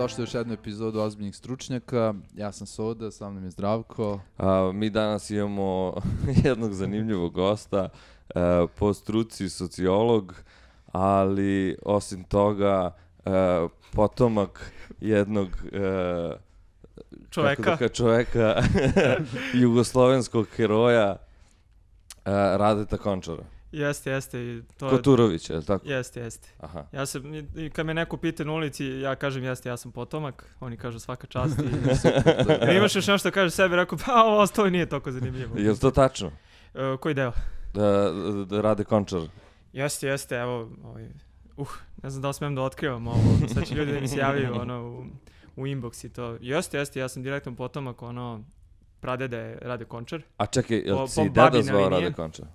dobrodošli u još jednu epizodu Ozbiljnih stručnjaka. Ja sam Soda, sa mnom je Zdravko. Mi danas imamo jednog zanimljivog gosta, po struci sociolog, ali osim toga potomak jednog čoveka jugoslovenskog heroja Radeta Končara. Jeste. Koturović, je li tako? Jeste. Aha. Ja sam, kad me neko pita na ulici, ja kažem jeste, ja sam potomak, oni kažu svaka čast i imaš još nešto kaže sebi, rekao pa ovo ostalo nije toliko zanimljivo. Je li to tačno? Koji deo? Da Rade Končar. Jeste, evo, ne znam da li smijem da otkrivam ovo, sad će ljudi da mi se javljaju u inbox i to. Jeste, ja sam direktno potomak, pradeda je Rade Končar. A čekaj, jel si deda zvao Rade Končar?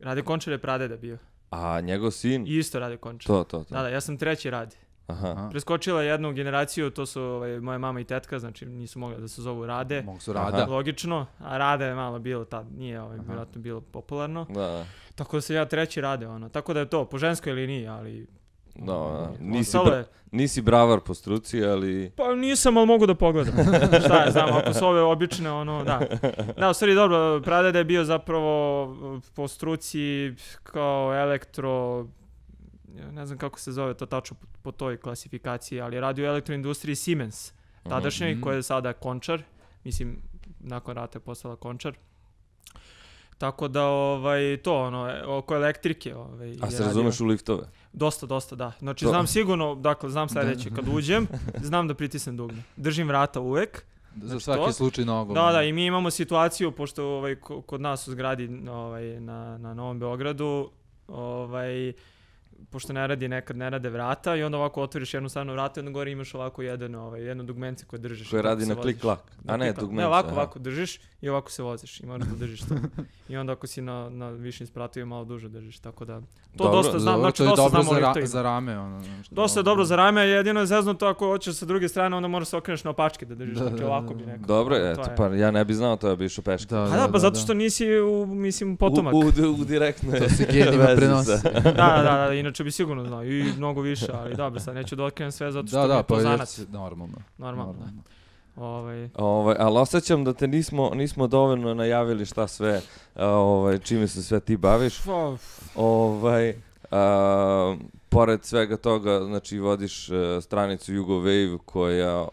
Rade Končar je pradeda bio. A njegov sin? Isto Rade Končar. To. Da, ja sam treći Rade. Aha. Preskočila jednu generaciju, to su moja mama i tetka, znači nisu mogli da se zovu Rade. Mogu su Rada. Logično, a Rade je malo bilo tad, nije vjerojatno bilo popularno. Da. Tako da sam ja treći Rade, tako da je to, po ženskoj liniji, ali... Da. Nisi bravar po struci, ali... Pa nisam, ali mogu da pogledam. Šta ja znam, ako su ove obične, da. Da, u stvari dobro, pradeda je bio zapravo po struci kao elektro... Ne znam kako se zove to tačno po toj klasifikaciji, ali radi u elektroindustriji Siemens, tadašnjoj, koja je sada Končar, mislim, nakon rata je postala Končar. Tako da, oko elektrike. A se razumeš u liftove? Dosta, da. Znači, znam sigurno, dakle, znam sljedeće, kad uđem, znam da pritisnem dugme. Držim vrata uvek. Za svaki slučaj nogom. Da, i mi imamo situaciju, pošto kod nas u zgradi na Novom Beogradu, pošto nekad ne rade vrata i onda ovako otvoriš jednu stranu vrata i onda gore imaš ovako jedno dugmence koje držiš. Koje radi na klik-klak. A ne, dugmence. Ne, ovako držiš i ovako se voziš i moraš da držiš to. I onda ako si na višim spratovima malo duže držiš, tako da... To dobro, dosta znam, znači dosta znamo liftovima. Za rame. Dosta je dobro za rame, jedino je zeznuto ako hoćeš sa druge strane, onda moraš se okreneš na opačke da držiš, znači ovako bi nekako. Dobro, eto, pa ja ne bi znao to, ja bi išao peške. Pa zato što nisi, potomak. U direktnoj to se genima prenosi. Da, inače bi sigurno znao i mnogo više, ali dobro, sad neću da otkrijem sve zato što mi je to zanac. Normalno. Ali osjećam da te nismo dovoljno najavili šta sve, čime se sve ti baviš. Pored svega toga, znači vodiš stranicu Jugowave koja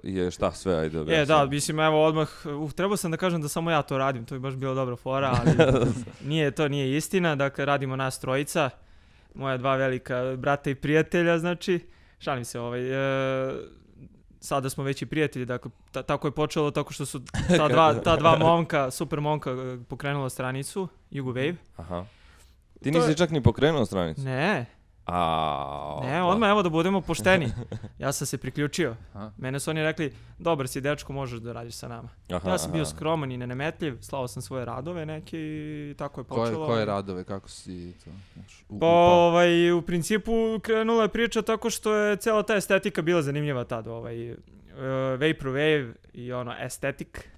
je šta sve, ajde objasnim. Da, mislim, evo odmah, trebao sam da kažem da samo ja to radim, to bi baš bila dobra fora, ali to nije istina, dakle radimo nas trojica, moja dva velika brata i prijatelja, znači, šalim se, sada smo već i prijatelji, dakle, tako je počelo, tako što su ta dva momka, super momka, pokrenula stranicu, Jugowave. Aha. Ti nisi čak ni pokrenuo stranicu? Ne, odmah evo da budemo pošteni. Ja sam se priključio. Mene su oni rekli, dobar si dečko, možeš da radiš sa nama. Ja sam bio skroman i nenametljiv, slao sam svoje radove neke i tako je počelo. Koje radove, kako si to? U principu krenula je priča tako što je cijela ta estetika bila zanimljiva tad. Vaporwave i estetik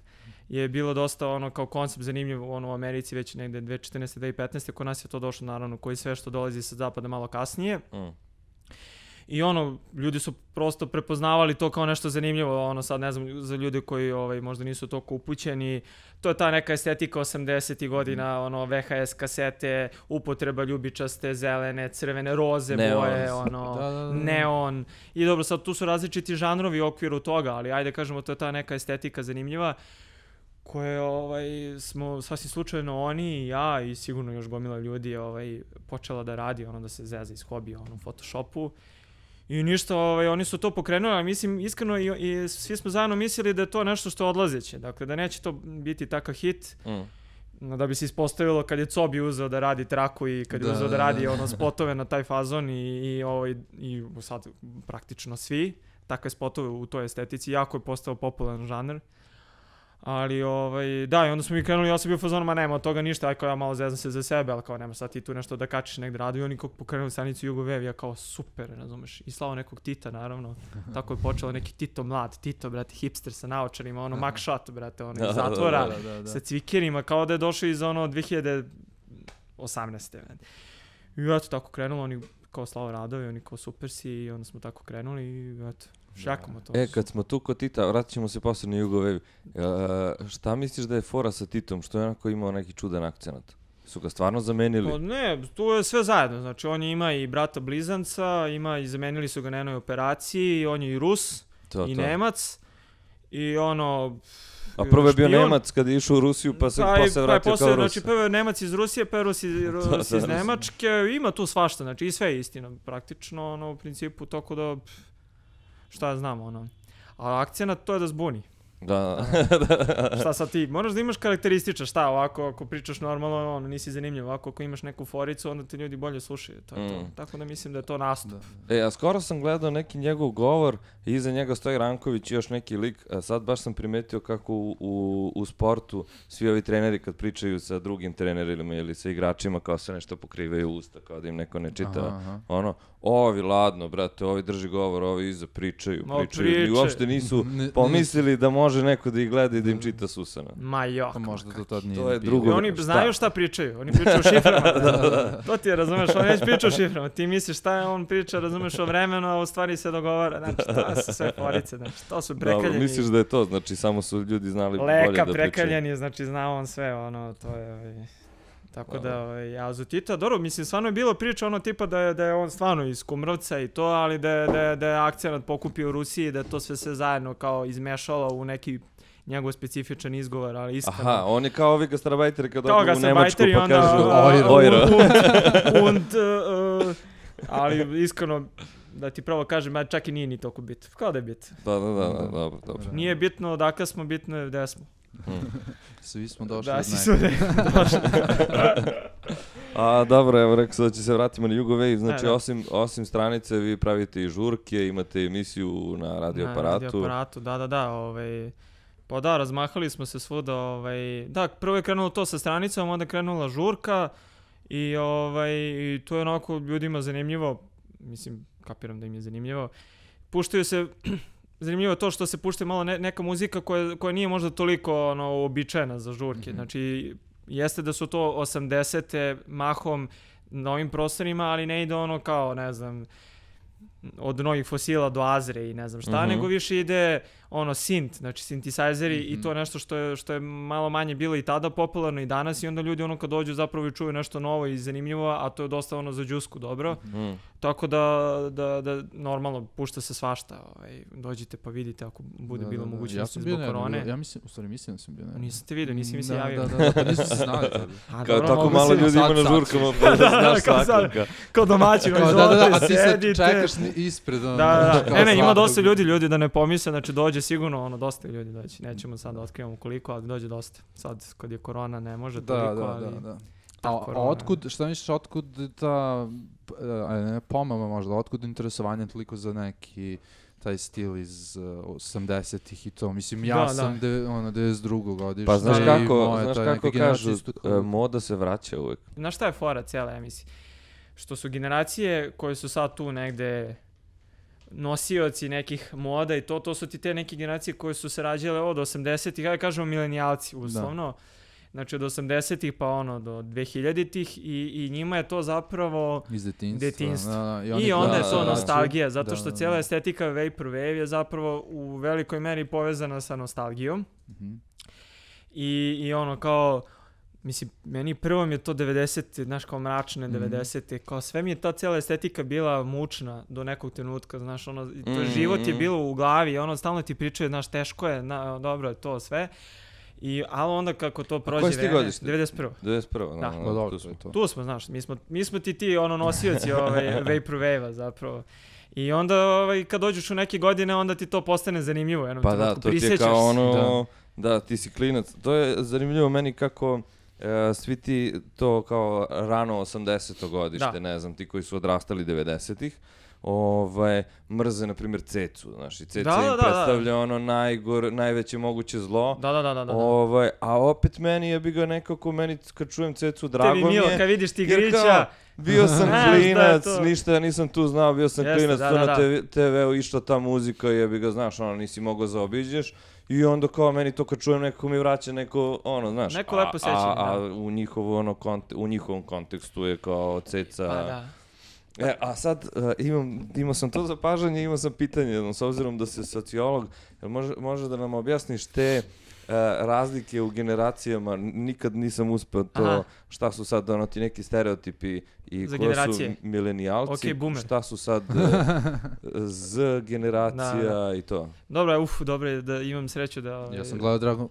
je bilo dosta kao koncept zanimljiv u Americi već negde 2014. 2015. Kod nas je to došlo naravno koji sve što dolazi sa zapada malo kasnije. I ljudi su prosto prepoznavali to kao nešto zanimljivo, sad ne znam, za ljude koji možda nisu toliko upućeni, to je ta neka estetika 80-ih godina, VHS kasete, upotreba ljubičaste, zelene, crvene, roze boje, neon. I dobro, sad tu su različiti žanrovi u okviru toga, ali ajde kažemo to je ta neka estetika zanimljiva koje smo sasvim slučajno oni i ja i sigurno još gomila ljudi počela da radi, da se zeza iz hobija u Photoshopu. I ništa, oni su to pokrenuli, ali mislim iskreno i svi smo zajedno mislili da je to nešto što je odlazeće, dakle da neće to biti takav hit, da bi se ispostavilo kad je Cobi uzeo da radi traku i kad je uzeo da radi spotove na taj fazon i sad praktično svi takve spotove u toj estetici, jako je postao popularan žanr. Ali, da, i onda smo mi krenuli, ja sam bio fazon, ma nema od toga ništa, ja malo zezam se za sebe, ali kao nema sad ti tu nešto da kačiš negdje radu i oni kako pokrenuli stranicu Jugowave, ja kao super, razumeš, i slao nekog Tita, naravno, tako je počelo neki Tito mlad, Tito, brate, hipster sa naočarima, mugshot, brate, iz zatvora, sa cvikerima, kao da je došao iz 2018. I eto, tako krenulo, oni kao slao radove, oni kao super si i onda smo tako krenuli i eto. šjakamo to. Kad smo tu kod Tita, vratit ćemo se posle na Jugowave. Šta misliš da je fora sa Titom, što je onako imao neki čudan akcenat? Su ga stvarno zamenili? Pa ne, tu je sve zajedno, znači on ima i brata blizanca, ima i zamenili su ga na jednoj operaciji, on je i Rus, i Nemac, i ono... A prvo je bio Nemac kad je išao u Rusiju, pa se posle vratio kao Rus. Znači prvo je Nemac iz Rusije, pa je Rus iz Nemačke, ima tu svašta, znači i sve je istina, praktično, ono, u principu, toko da, šta ja znam, ono. A akcenat to je da zbuni. Da. Šta sad ti, moraš da imaš karakterističa, šta ovako, ako pričaš normalno, ono, nisi zanimljiv, ovako, ako imaš neku foricu, onda te ljudi bolje slušaju, to je to. Tako da mislim da je to nastup. A skoro sam gledao neki njegov govor, i iza njega stoji Ranković i još neki lik, a sad baš sam primetio kako u sportu svi ovi treneri kad pričaju sa drugim trenerima ili sa igračima, kao se nešto pokrivaju usta, kao da im neko ne čita, ono, ovi ladno, brate, ovi drži govor, ovi iza pričaju. I uopšte nisu pomislili da može neko da ih gleda i da im čita s usana. Ma jok. Pa možda to tad nije to je drugo. Oni znaju šta pričaju, oni pričaju o šiframa. To ti je, razumeš, on već priča o šiframa. Ti misliš šta je on priča, razumeš o vremenu, a u stvari se dogovara. Znači, to su sve forice, znači, to su prekaljeni. Dobro, misliš da je to, znači, samo su ljudi znali bolje da pričaju. Leka prekaljeni, znači, znao on sve, ono, to je... Tako da, ja za Tita, dobro, mislim, stvarno je bilo priča ono tipa da je on stvarno iz Kumrovca i to, ali da je akcenat pokupio u Rusiji, da je to sve zajedno kao izmešalo u neki njegov specifičan izgovor, ali iskreno... Aha, on je kao ovi gastarbajteri kad odu u Nemačku pa kažu Ojro. Ali iskreno, da ti pravo kažem, čak i nije ni toliko bitno. Kao da je bitno. Da, dobro. Nije bitno odakle smo, bitno je gde smo. Svi smo došli da, svi smo došli. A dobro, evo rekao sam da će se vratimo na Jugowave, znači osim stranice vi pravite i žurke, imate emisiju na radioaparatu. Na radioaparatu, da, pa da, razmahali smo se svuda, da, prvo je krenulo to sa stranicom, onda je krenula žurka i to je onako ljudima zanimljivo, mislim, kapiram da im je zanimljivo, puštaju se... Zanimljivo je to što se pušta malo neka muzika koja nije možda toliko uobičajena za žurke. Znači, jeste da su to 80-te mahom na ovim prostorima, ali ne ide ono kao, ne znam, od Novih fosila do Azre i ne znam šta, nego više ide synth, znači synthesizeri i to nešto što je malo manje bilo i tada popularno i danas i onda ljudi kad dođu zapravo i čuju nešto novo i zanimljivo, a to je dosta za džusku dobro. Tako da normalno pušta se svašta, dođite pa vidite ako bude bilo mogućnosti zbog korone. Ja mislim da sam bio. Nisam te vidio, nisi mi se javio. Da, pa nisu se znali. Kao tako malo ljudi ima na žurkama, pa da znaš svakoga. Kao domaćin, izvolite, a ti sad sedite. čekaš ispred. Ne, ima dosta ljudi da ne pomisle, znači dođe sigurno, dosta ljudi dođe. Nećemo sad da otkrivamo koliko, ali dođe dosta. Sad, kad je korona, ne može toliko, ali... A otkud, šta misliš, otkud ta pomama možda, otkud interesovanje toliko za neki taj stil iz 80-ih i to, mislim, ja sam 92. godište. Pa znaš kako kažu, moda se vraća uvek. Znaš šta je fora cijela, ja mislim? Što su generacije koje su sad tu negde nosioci nekih moda i to su ti te neke generacije koje su se rađale od 80-ih, ja kažemo milenijalci uslovno. Znači od 80-ih pa do 2000-ih i njima je to zapravo iz detinjstva. I onda je to nostalgija, zato što cijela estetika Vaporwave je zapravo u velikoj meri povezana sa nostalgijom. I kao, mislim, meni prvo mi je to 90-te, znaš, kao mračne 90-te, kao sve mi je ta cijela estetika bila mučna do nekog trenutka, znaš, to život je bilo u glavi, stalno ti pričaju, znaš, teško je, dobro je to sve. Ali onda kako to prođe vreme... Koji si ti godište? 91. 91. Da, tu smo, znaš, mi smo ti nosioci Vaporwave-a zapravo. I onda kad dođeš u neke godine, onda ti to postane zanimljivo. Pa da, to ti je kao da, ti si klinac. To je zanimljivo meni kako svi ti to kao rano 80. godište, ne znam, ti koji su odrastali 90-ih, mrze, na primjer, Cecu, znaš, i Ceca im predstavlja najveće moguće zlo. A opet meni je bio nekako, kad čujem Cecu, drago mi je. Tebi milo, kad vidiš Tigrića. Bio sam klinac, ništa ja nisam tu znao, bio sam klinac, tu na TV-u išla ta muzika i jebi ga, znaš, nisi mogao zaobiđeš. I onda kao meni to kad čujem nekako mi vraća neko, znaš. Neko lepo sećanje, a u njihovom kontekstu je kao Ceca... A sad imao sam to zapažanje, imao sam pitanje, s obzirom da si sociolog, može da nam objasniš te razlike u generacijama, nikad nisam uspeo to, šta su sad ti neki stereotipi i ko su milenijalci, šta su sad Z generacija i to. Dobro, da imam sreću da... Ja sam gledao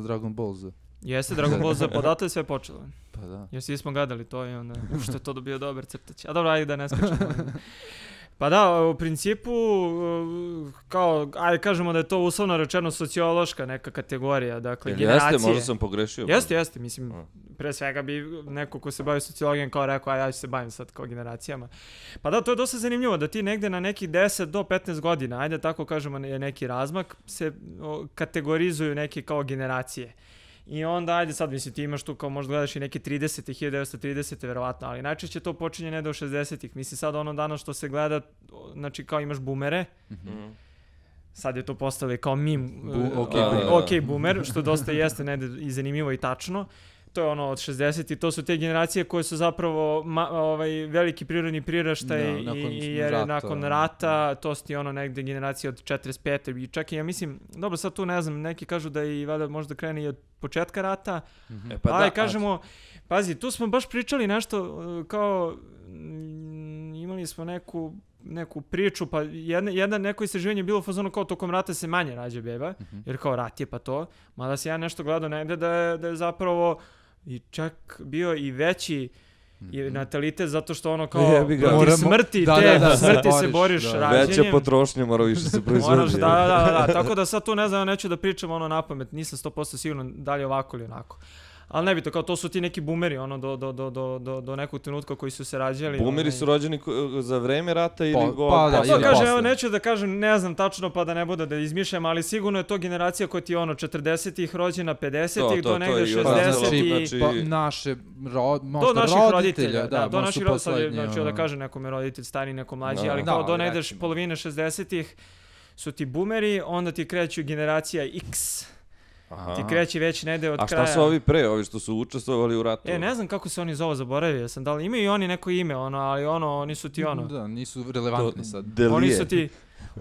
Dragon Ball Z. Jeste, Dragon Ball Z, podato je sve počelo. Pa da. Jer svi smo gledali to i onda, što je to dobio dobar crtać. A dobro, ajde da ne skačemo. Pa da, u principu, kao, ajde kažemo da je to uslovno rečeno sociološka neka kategorija, dakle, generacije. Jeste, možda sam pogrešio. Jeste, mislim, pre svega bi neko ko se bavi sociologijom kao rekao, ja ću se bavim sad kao generacijama. Pa da, to je dosta zanimljivo, da ti negde na nekih 10 do 15 godina, ajde tako kažemo je neki razmak, se kategorizuju neke kao generacije. I onda, ajde sad, mislim, ti imaš tu kao možda gledaš i neke 30. 1930. verovatno, ali najčešće to počinje ne do 60-ih. Mislim, sad ono danas što se gleda, znači kao imaš boomere, sad je to postalo kao meme, ok boomer, što dosta jeste negde i zanimljivo i tačno. To je ono od 60 i to su te generacije koje su zapravo veliki prirodni priraštaj jer nakon rata, to su ti ono negde generacije od 45. I čak i ja mislim, dobro sad tu ne znam, neki kažu da i valjda možda krene i od početka rata, ali kažemo, pazi, tu smo baš pričali nešto kao, imali smo neku priču, pa neko istraživanje je bilo fazonu kao tokom rata se manje rađa beba, jer kao rat je pa to, mada se ja nešto gledao negde da je zapravo i čak bio i veći natalitet zato što ono kao protiv smrti, smrti se boriš rađenjem. Veća potrošnja mora više se proizvodi. Da, tako da sad tu ne znam, neću da pričam ono napamet, nisam 100% siguran da li je ovako ili onako. Ali ne bi to, kao to su ti neki boomeri, ono, do nekog trenutka koji su se rađali. Boomeri su rođeni za vreme rata ili to kažem, evo neću da kažem, ne znam tačno pa da ne bude da izmišljam, ali sigurno je to generacija koja ti ono 40-ih rođena, 50-ih do negde 60-ih. Naše roditelja, do naših roditelja, znači da kažem nekome roditelj stari, neko mlađi, ali kao do negde polovine 60-ih su ti boomeri, onda ti kreću generacija X. Ti kreći već negde od kraja. A šta su ovi pre, ovi što su učestvovali u ratu? Ne znam kako se oni zove, zaboravio sam, da li imaju i oni neko ime, ali oni su ti ono... Da, nisu relevantni sad.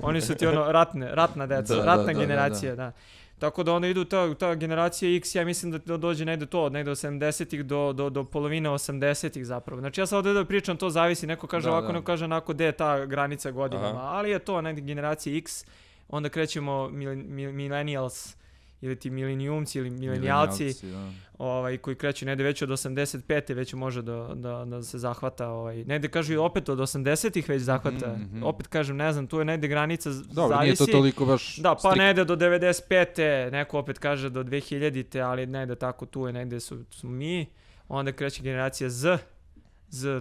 Oni su ti ono ratna deca, ratna generacija, da. Tako da onda idu ta generacija X, ja mislim da dođe negde od 70-ih do polovine 80-ih zapravo. Znači ja sad ovdje da pričam, to zavisi, neko kaže ovako, neko kaže onako, gde je ta granica godinama, ali je to negde generacija X, onda krećemo millennials, ili ti milenijumci ili milenijalci koji kreću negde već od 85. već može da se zahvata. Negde kažu i opet od 80-ih već zahvata. Opet kažem, ne znam, tu je negde granica, dobro, zavisi. Nije to toliko baš da, pa negde do 95. Neko opet kaže do 2000. Ali negde tako tu je, negde su mi. Onda kreće generacija Z,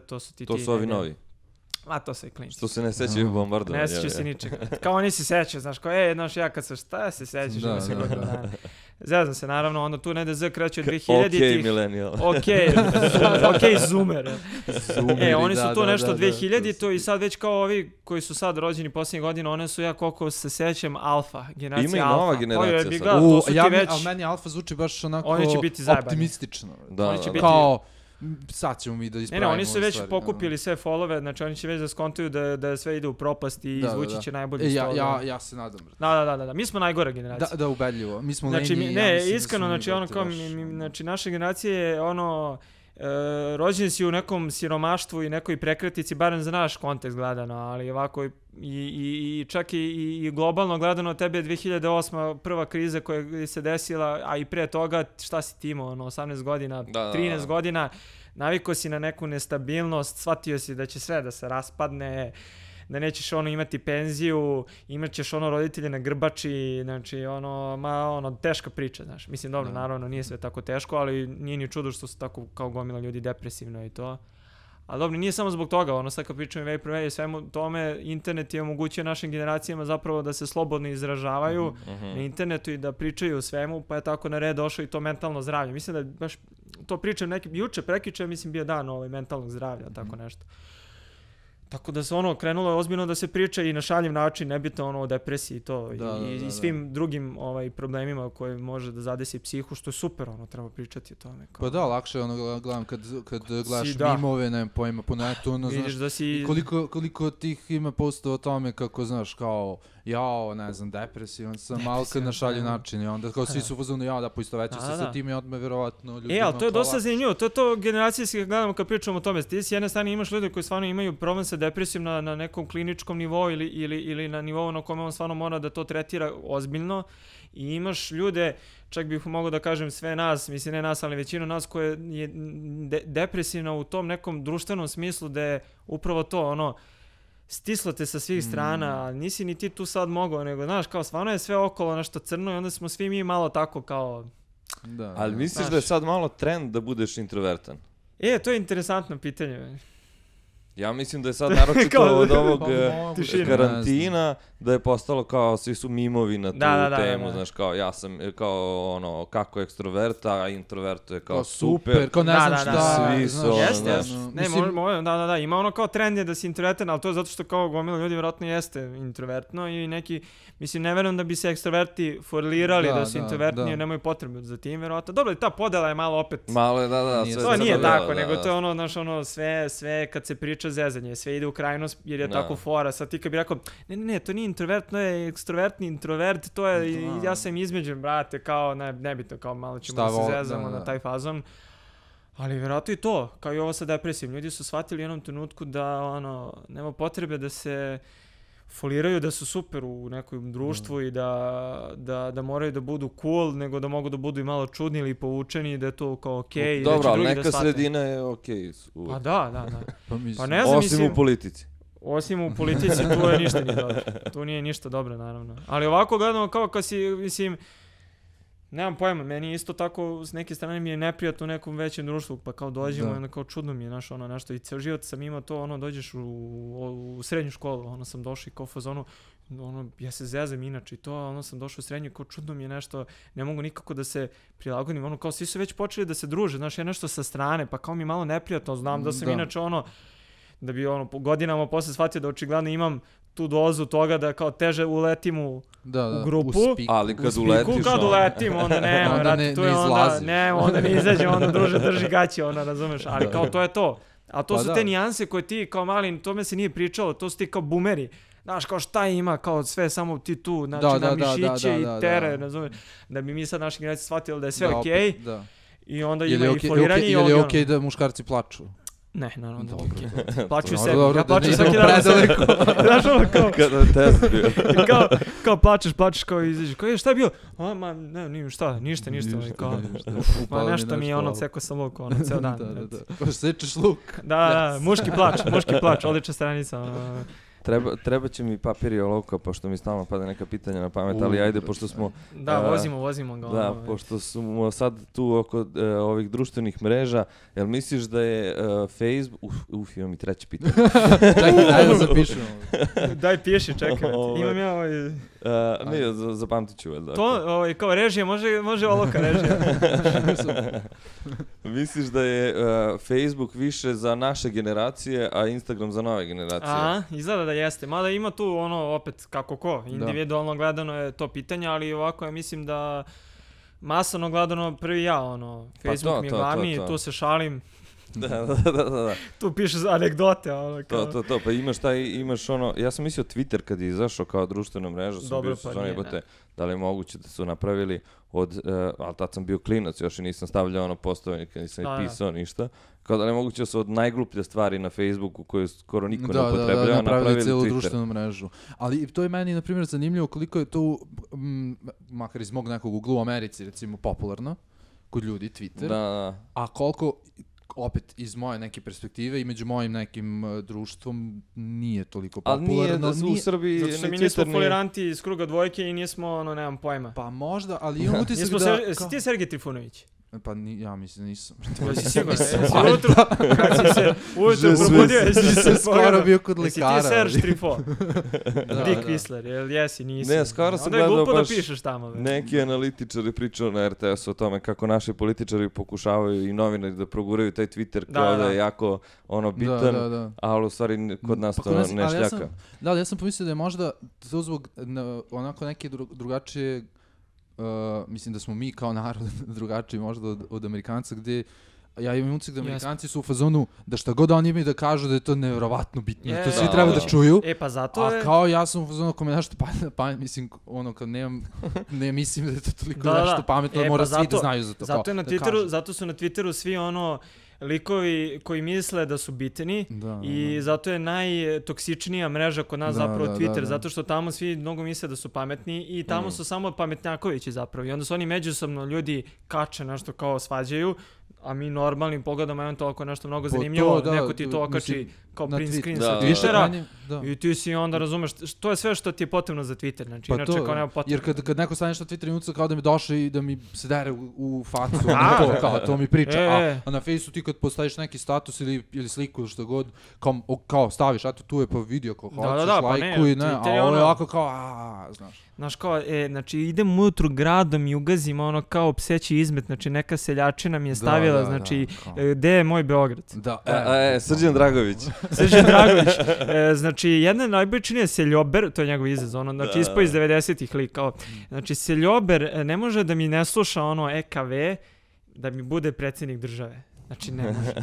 to su ti... To su ovi novi. A to se i klinci. Što se ne sećaju bombardovanja. Ne sećaju se ničega. Kao oni se sećaju, znaš, kao ja kad sam šta se sećaš? Zezam se, naravno, onda tu negde Z kreće od 2000-ih. Ok, millennial. Ok, zoomer. Oni su tu nešto 2000-to i sad već kao ovi koji su sad rođeni posljednjih godina, one su, ja koliko se sećam, alfa, generacija alfa. Ima i nova generacija sad. Ali meni alfa zvuči baš onako optimistično. Kao... sad ćemo mi da ispravimo. Oni su već pokupili sve follove, znači oni će već da skontuju da sve ide u propast i izvući će najbolji stol. Ja se nadam. Da, mi smo najgora generacija. Da, ubedljivo. Mi smo znači, iskreno, znači ono kao, znači naša generacija je ono, rođeni si u nekom siromaštvu i nekoj prekratici, barem za naš kontekst gledano, ali ovako i čak i globalno gledano, tebe je 2008. prva kriza koja se desila, a i pre toga šta si ti imao, 18 godina, 13 godina, navikao si na neku nestabilnost, shvatio si da će sve da se raspadne, da nećeš imati penziju, imat ćeš roditelje na grbači, znači teška priča, znaš. Mislim, dobro, naravno nije sve tako teško, ali nije ni čudo što su tako kao gomila ljudi depresivno i to. Ali dobro, nije samo zbog toga, sad kad pričam i prve i svemu tome, internet je omogućio našim generacijama zapravo da se slobodno izražavaju na internetu i da pričaju o svemu, pa je tako na red došlo i to mentalno zdravlje. Mislim da baš to pričam juče, prekjuče, mislim bio dan mentalnog zdravlja, tako nešto. Tako da se krenulo je ozbiljno da se priča i na šaljiv način, nebitno o depresiji i to, i svim drugim problemima koje može da zadesi psihu, što je super, treba pričati o tome. Pa da, lakše gledam kad gledaš mimove, nemam pojma po netu, znaš, da si... koliko tih ima postova o tome kako, znaš, kao, jao, ne znam, depresivan sam, malo kad na šaljiv način, i onda kao svi su pozvani, da poistoveću se sa tim i odmah verovatno ljudi... ali to je dosta zanimljivo, to je to generacijski gledamo kad pričamo o tome, ti s jedne strane imaš ljude koji stvarno imaju problem sa depresijom na nekom kliničkom nivou ili na nivou na kojem on stvarno mora da to tretira ozbiljno i imaš ljude, čak bih mogao da kažem sve nas, mislim ne nas, ali većinu nas koje je depresivna u tom nekom društvenom smislu da je upravo to, stislo te sa svih strana, a nisi ni ti tu sad mogao, nego znaš, kao stvarno je sve okolo nešto crno i onda smo svi mi malo tako kao... Da, ali misliš da je sad malo trend da budeš introvertan? To je interesantno pitanje. Ja mislim da je sad naročito od ovog karantina da je postalo kao svi su mimovi na tu temu, znaš, kao ja sam kao kako ekstrovert, a introvert je kao super, kao ne znam šta, svi su ima kao trend je da si introvertan, ali to je zato što kao gomila ljudi vjerojatno jeste introvertno i neki, mislim, ne verujem da bi se ekstroverti forlirali da su introvertni jer nemaju potrebu za tim, vjerojatno. Dobro, ta podela je malo opet. Malo je, to nije tako, nego to je znaš, sve kad se priča zezanje, sve ide u krajnost jer je tako fora. Sad ti kad bi rekao, ne, to nije introvert, to je ekstrovertni introvert, to je, ja sam između, brate, kao, nebitno, kao malo ćemo da se zezamo na taj fazon. Ali vjerojatno i to, kao i ovo sa depresijom. Ljudi su shvatili u jednom trenutku da, nema potrebe da se foliraju da su super u nekom društvu i da moraju da budu cool, nego da mogu da budu i malo čudni ili povučeni i da je to kao okej. Dobro, ali neka sredina je okej. Pa da. Pa ne znam, osim u politici. Osim u politici, tu je ništa nije dobro. Tu nije ništa dobro, naravno. Ali ovako gledamo kao kad si, mislim, nemam pojma, meni isto tako s neke strane mi je neprijatno u nekom većem društvu, pa kao dođemo i onda kao čudno mi je nešto i ceo život sam imao to, dođeš u srednju školu, sam došao i kao fazonu, ja se zezam inače i to, sam došao u srednju, kao čudno mi je nešto, ne mogu nikako da se prilagodim, kao svi su već počeli da se druže, znaš, ja nešto sa strane, pa kao mi je malo neprijatno, znam da sam inače da bi godinama posle shvatio da očigledno imam tu dozu toga da kao teže uletim u grupu. Ali kad uletiš... Kad uletim, onda nema, vrati, tu je onda ne izađe, onda druže drži gaće, razumeš, ali kao to je to. A to su te nijanse koje ti kao mali, tome se nije pričalo, to su ti kao boomeri. Znaš, kao šta ima, kao sve samo ti tu, znači na mišiće i tere, razumeš, da bi mi sad naši generacije shvatili da je sve okej. I onda ima i foliranje i ovdje. Je li okej da muškarci plaču? Ne, naravno da okej. Plaću i sebi, ja plaću svaki dan. Znaš kao... Kada test bio. Kao plačeš kao izađeš, kao šta je bio? Ne, ništa. Ma nešto mi je ceko sam luk, ceo dan. Kao sečeš luk. Da, muški plač, odlična stranica. Treba će mi papir i olovka, pošto mi stalno pada neka pitanja na pamet, ali ajde, pošto smo... Da, vozimo ga. Da, pošto smo sad tu oko ovih društvenih mreža, jel misliš da je Facebook... imam i treće pitanje. Ajde da zapišemo. Daj, piši, čekaj. Imam ja Ne, zapamtit ću. To, kao režija, može olovka režija. Misliš da je Facebook više za naše generacije, a Instagram za nove generacije? Izgleda da jeste. Mada ima tu opet kako ko. Individualno gledano je to pitanje, ali ovako ja mislim da masovno gledano prvi ja, Facebook mi je glavni, tu se šalim. Da. Tu piše anegdote, To, pa imaš ja sam mislio Twitter kad je izašao kao društvena mreža, sam bio da li je moguće da su napravili ali tad sam bio klinac, još i nisam stavljao postove, nikad nisam pisao ništa, kao da li je moguće da su od najgluplje stvari na Facebooku koje skoro niko ne upotrebljava, napravili cijelu Twitter. Društvenu mrežu. Ali to je meni, na primjer, zanimljivo koliko je to, makar iz mog nekog ugla u Americi, recimo, popularno kod ljudi, Twitter, a koliko opet iz moje neke perspektive i među mojim nekim društvom nije toliko popularno. Ali nije u Srbiji... Zato što mi nismo foliranti iz kruga dvojke i nismo, nemam pojma. Pa možda, ali imam utisak da... Si ti Sergej Trifunović? Pa ja mislim nisam. Jesi sigurno? Jesi ujutru, kad si se ujutru probudio, jesi se skoro bio kod lekara. Jesi ti Serge Trifo? Dick Whistler, jel jesi, nisi? Ne, skoro sam gledao baš... Onda je glupo da pišeš tamo. Neki analitičari pričaju na RTS-u o tome kako naši političari pokušavaju i novinari da proguraju taj Twitter kao da je jako bitan, ali u stvari kod nas to ne šljaka. Ja sam pomislio da je možda to zbog onako neke drugačije. Mislim da smo mi kao narod drugačiji možda od Amerikanca, gdje ja imam utisak da Amerikanci su u fazonu da šta god oni imaju da kažu da je to nevjerovatno bitno, to svi treba da čuju. Pa zato je... A kao ja sam u fazonu ako me nešto pamet, mislim, kad ne mislim da je to toliko nešto pametno, mora svi da znaju za to. Zato su na Twitteru svi likovi koji misle da su bitni i zato je najtoksičnija mreža kod nas zapravo Twitter, zato što tamo svi mnogo misle da su pametni i tamo su samo pametnjakovići zapravo i onda su oni međusobno ljudi kače nešto kao svađaju, a mi normalnim pogledom eventualno ako je nešto mnogo zanimljivo, neko ti to okači kao print screen sa Twittera i ti si onda razumeš, to je sve što ti je potrebno za Twitter, znači inače kao nema potrebno. Jer kad neko stane nešto na Twitter minuta kao da mi došao i da mi se dere u facu, to mi priča, a na Facebooku ti kad postaviš neki status ili sliku ili što god, kao staviš, eto tu je pa video kao hoćeš, lajkuj, a ovo je ovako kao, znaš. Znaš kao, znači idem ujutru gradom i ugazim kao pseći izmet, znači neka seljačina mi je stavila, znači gde je moj Beograd? Srđan Dragović. Srđan Dragović, znači jedna najbojičnija je Seljober, to je njegov izraz, znači ispo iz 90-ih lik, kao, znači Seljober ne može da mi ne sluša EKV da mi bude predsjednik države. Znači ne može.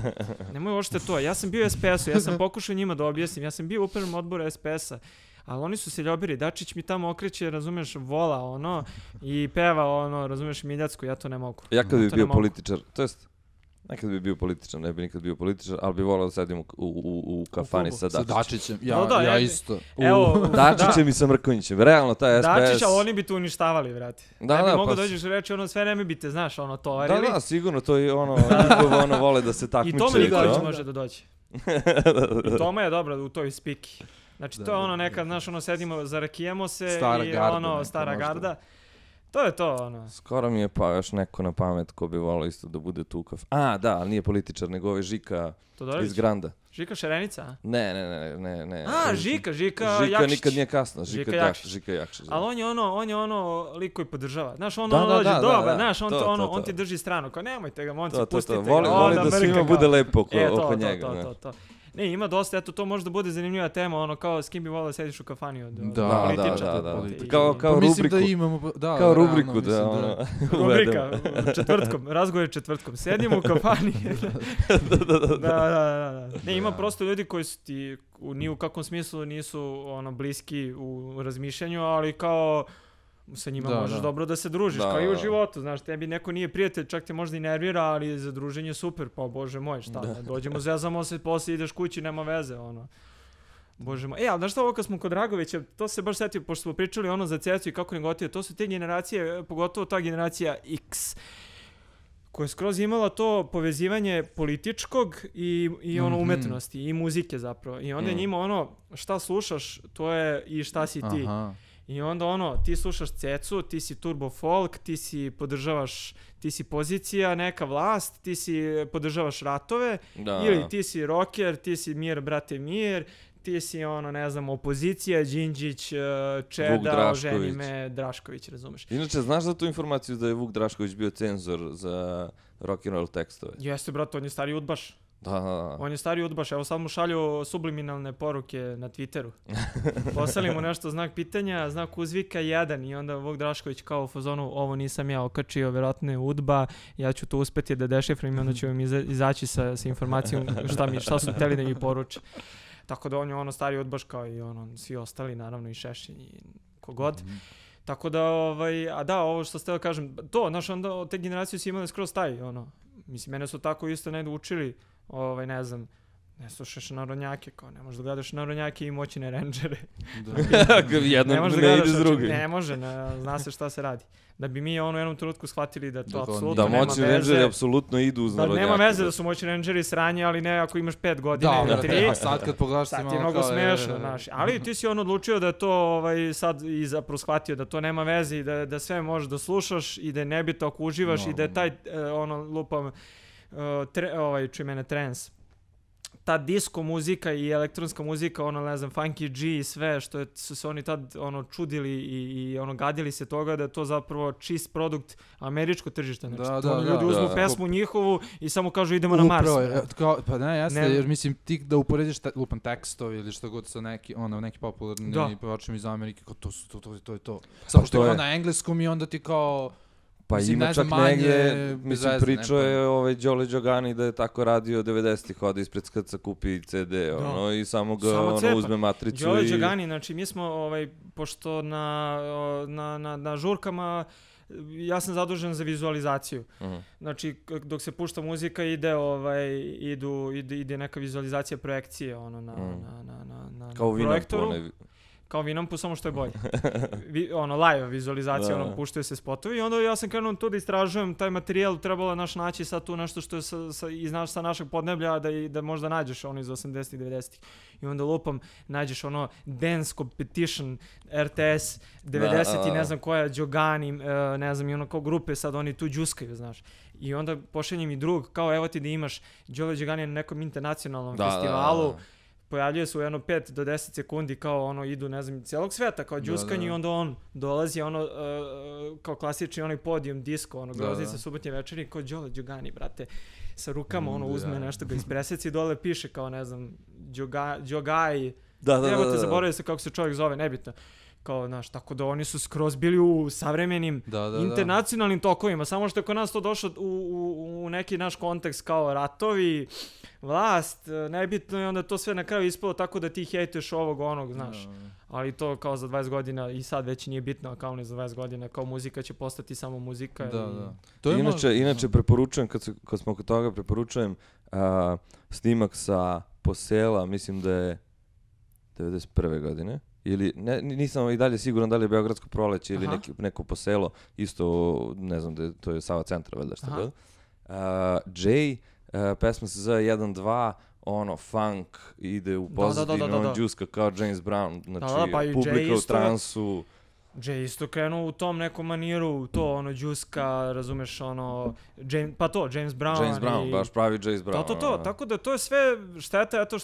Nemoj uopšte to. Ja sam bio u SPS-u, ja sam pokušao njima da objasnim, ja sam bio u upravnom odboru SPS-a, ali oni su seljobiri, Dačić mi tamo okreće, razumeš, vola i peva razumeš, Miljacku, ja to ne mogu. Ja kad bi bio političar, to jest, nekad bi bio političar, ne bi nikad bio političar, ali bi volao da sedim u kafani sa Dačićem. Ja isto. Dačićem i sa Mrkonjićem, realno taj SPS. Dačić, ali oni bi tu uništavali, vrati. Ne bi mogo dođeš i reći, sve ne bite, znaš, tovarili. Da, sigurno, to je vole da se takmiče. I Toma Nikolić može da dođe. I Toma je dobra u toj spiki. Znači, to je nekad, znaš, sedimo, zarakijemo se i stara garda. To je to, Skoro mi je pa još neko na pamet ko bi volao isto da bude tu da, ali nije političar, nego ovaj Žika iz Granda. Žika Šerenica? Ne. Žika Jakšić. Nikad nije kasno, Žika Jakšić. Ali on je lik koji podržava. Znaš, dođe dobar, znaš, on ti drži stranu, kao nemojte ga, momci, pustite ga. Voli da svima bude lepo oko njega. Ne, ima dosta, eto, to može da bude zanimljiva tema, kao s kim bi volao da sediš u kafani od političara. Kao rubriku. Kao rubriku, Rubrika, četvrtkom, razgovor četvrtkom. Sedimo u kafani. Da. Ne, ima prosto ljudi koji su ti ni u kakvom smislu nisu bliski u razmišljanju, ali kao sa njima možeš dobro da se družiš, kao i u životu, znaš, tebi neko nije prijatelj, čak te možda i nervira, ali za druženje je super, pa bože moj, šta, dođemo, zezamo se, poslije ideš kući, nema veze, bože moj. Ali znaš šta, ovo kad smo kod Dragovića, to se baš setio, pošto smo pričali za Cecu i kako negotivno, to su te generacije, pogotovo ta generacija X, koja je skroz imala to povezivanje političkog i umetnosti i muzike zapravo. I onda je njima šta slušaš, to je i šta si ti. I onda ti slušaš Cecu, ti si turbo folk, ti si podržavaš, ti si pozicija, neka vlast, ti si podržavaš ratove, ili ti si rocker, ti si mir, brate mir, ti si ne znam, opozicija, Đinđić, Čeda, ženi me, Drašković, razumeš. Inače, znaš za tu informaciju da je Vuk Drašković bio cenzor za rock'n'roll tekstove? Jeste, brate, on je stari udbaš. Da. On je stari udbaš, evo sad mu šalju subliminalne poruke na Twitteru. Poslali mu nešto znak pitanja, znak uzvika 1 i onda Vuk Drašković kao u fazonu, ovo nisam ja okačio, vjerojatno je udba, ja ću to uspeti da dešifrujem i onda ću im izaći sa informacijom šta su hteli da mi poruče. Tako da on je stari udbaš kao i svi ostali, naravno i Šešin i kogod. Tako da, ovo što ste da kažem, to, znaš, onda te generacije su imali skroz taj, mislim, mene su tako isto negdje učili, ne znam, Ne slušaš narodnjake, kao ne možeš da gledaš narodnjake i moćne rendžere. Jedno ne ide s drugim. Ne može, zna se šta se radi. Da bi mi u jednom trenutku shvatili da to apsolutno nema veze. Da moćni rendžeri apsolutno idu uz narodnjake. Nema veze da su moćni rendžeri sranje, ali ne ako imaš 5 godina ili 3. A sad kad pogledaš sad ti je mnogo smešno, znaš. Ali ti si odlučio da to sad i zapravo shvatio da to nema veze i da sve možeš da slušaš i da je nebitno ako uživaš i da je taj lupam trance. Ta disco muzika i elektronska muzika, ne znam, Funky G i sve, što su se oni tad čudili i gadili se toga da je to zapravo čist produkt američko tržište. Znači, ljudi uzmu pesmu njihovu i samo kažu idemo na Mars. Pa ne, jasno, jer mislim ti da uporediš lupan tekstovi ili što god sa neki popularni pevačima iz Amerike, kao to je to. Samo što je na engleskom i onda ti kao... Pa ima čak negdje, mislim, pričao je Đole Đogani da je tako radio 90-ih, ode ispred skrca, kupi CD, i samo ga uzme matricu. Đole Đogani, znači mi smo, pošto na žurkama, ja sam zadužen za vizualizaciju. Znači, dok se pušta muzika, ide neka vizualizacija projekcije, na projektoru. Kao Vinampu, samo što je bolje. Live vizualizacija, puštaju se spotovi i onda ja sam krenuo tu da istražujem taj materijal, trebalo naći sad tu nešto što je sa našeg podneblja da možda nađeš iz 80-ih, 90-ih. I onda lupam, nađeš Dance Competition, RTS, 90 i ne znam koja, Đogani, ne znam, i kao grupe sad oni tu džuskaju, znaš. I onda pošaljem i drug, kao evo ti da imaš Đole Đogani na nekom internacionalnom festivalu, pojavljuje se u 5 do 10 sekundi kao idu, ne znam, cijelog sveta kao džuskanje i onda on dolazi kao klasični podijum disco, Groznica subotnje večeri kao Đole Đogani, brate, sa rukama uzme nešto ga ispreseci i dole piše kao, ne znam, Đogaj, evo te zaboravio se kako se čovjek zove, nebitno. Kao, znaš, tako da oni su skroz bili u savremenim internacionalnim tokovima, samo što je kod nas to došlo u neki naš kontekst kao ratovi, vlast, nebitno i onda to sve na kraju ispalo tako da ti hejtuješ ovog, znaš. Ali to kao za 20 godina i sad već nije bitno, kao ne za 20 godina, kao muzika će postati samo muzika. Inače preporučujem, kad smo kod toga preporučujem snimak sa Posela, mislim da je 91. godine. Ili, nisam i dalje siguran da li je Beogradsko proleće ili neko Poselo, isto, ne znam, to je Sava centra, valjda što bilo. Jay, pesma se zove 1-2, funk, ide u pozadinu, on džuska kao James Brown, znači publika u transu. Jay isto krenuo u tom nekom maniru, to džuska, razumeš, James Brown. James Brown, baš pravi James Brown. Tako da to je sve šteta, eto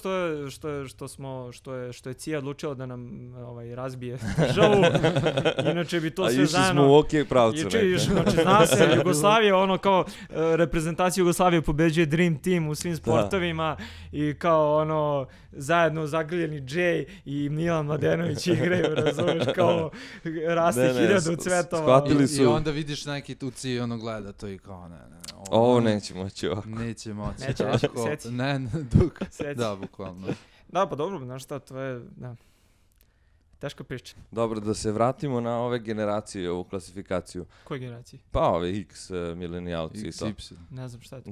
što je CIA odlučila da nam razbije državu, inače bi to sve zajedno... A išli smo u okej pravcu. Znači, zna se, Jugoslavija, kao reprezentacija Jugoslavije pobeđuje Dream Team u svim sportovima i kao zajedno zagrljeni Jay i Milan Mladenović igraju, razumeš, kao... raste 1000 cvetova. I onda vidiš neki tuci i gleda to i kao ovo neće moći ovako. Neće moći. Seci. Duk. Da, bukvalno. Da, pa dobro, znaš šta, to je, teška priča. Dobro, da se vratimo na ove generacije, ovu klasifikaciju. Koje generacije? Pa ove X milenijalci i to. XY. Ne znam šta je to.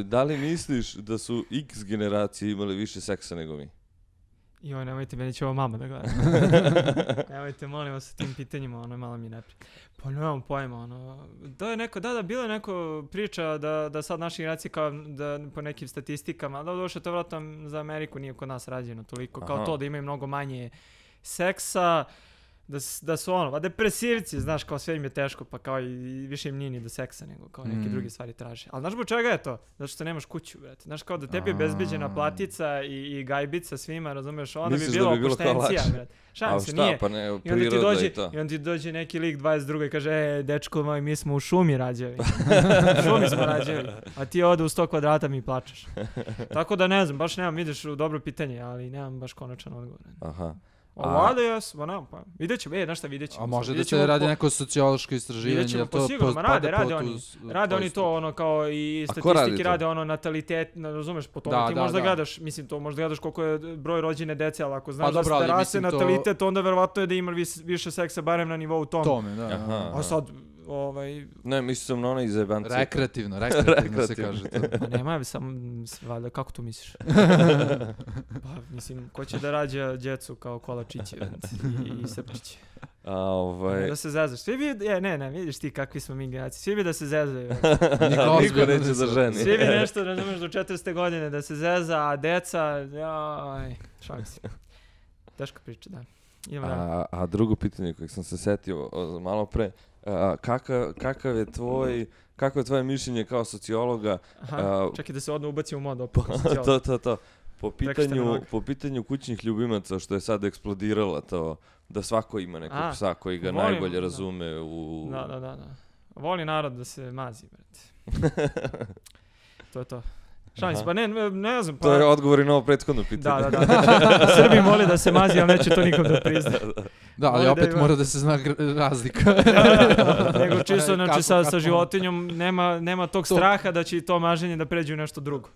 Da li misliš da su X generacije imali više seksa nego mi? Joj, nemojte, meni će ovo mama da gleda. Nemojte, molim vas, sa tim pitanjima, malo mi neprijatno. Pa nemam pojma, bila je neko priča da sad naša generacija kao da po nekim statistikama, da došlo to vratno za Ameriku nije kod nas rađeno toliko, kao to da imaju mnogo manje seksa, da su depresivci, znaš, kao sve im je teško, pa kao i više im nije ni do seksa, nego kao neke druge stvari traže. Ali znaš bo čega je to? Zato što nemaš kuću, brate. Znaš, kao da tebi je bezbeđena platica i gajbica svima, razumeš, onda bi bilo opuštencija, brate. Šalim se, nije. Pa ne, priroda i to. I onda ti dođe neki lik 22 i kaže, dečko moj, mi smo u šumi rađali. U šumi smo rađali. A ti ovdje u 100 kvadrata mi plačeš. Tako da ne znam, baš nemam, ideš u dobro pitanje, ali nemam baš konačan odgovor. Aha. Ovada jes, pa vidjet ćemo, znaš šta, vidjet ćemo. A može da se radi neko sociološko istraživanje? Vidjet ćemo, pa sigurno, rade oni to, kao i statistiki rade, natalitet, razumeš, po tome ti možda gledaš, mislim, to možda gledaš koliko je broj rođene dece, ali ako znaš da raste natalitet, onda verovatno je da ima više seksa, barem na nivou tome. A sad, Ne, mislim sam na onaj zajebanci. Rekreativno se kaže to. Pa nema, samo, valjda, kako to misliš? Pa, mislim, ko će da rađa djecu kao kolačići i srpčići? Da se zezaš. Svi bi, ne, vidiš ti kakvi smo mi generacije. Svi bi da se zezaju. Niko neće za ženi. Svi bi nešto, razumeš, do 40. godine da se zeza, a deca, šalim se. Teška priča, da. A drugo pitanje kojeg sam se setio malo pre, kako je tvoje mišljenje kao sociologa? Čekaj da se odno ubaci u mod opet. To. Po pitanju kućnih ljubimaca, što je sad eksplodiralo to, da svako ima nekog psa koji ga najbolje razume u... Da. Voli narod da se mazi, brate. To je to. Šalim se, pa ne znam. To je odgovor i na ovo prethodno pitanje. Da. Srbi voli da se mazi, ali neće to nikom da prizna. Da, ali opet mora da se zna razlika. Nego čisto, znači sa životinjom nema tog straha da će to maženje da pređe u nešto drugo.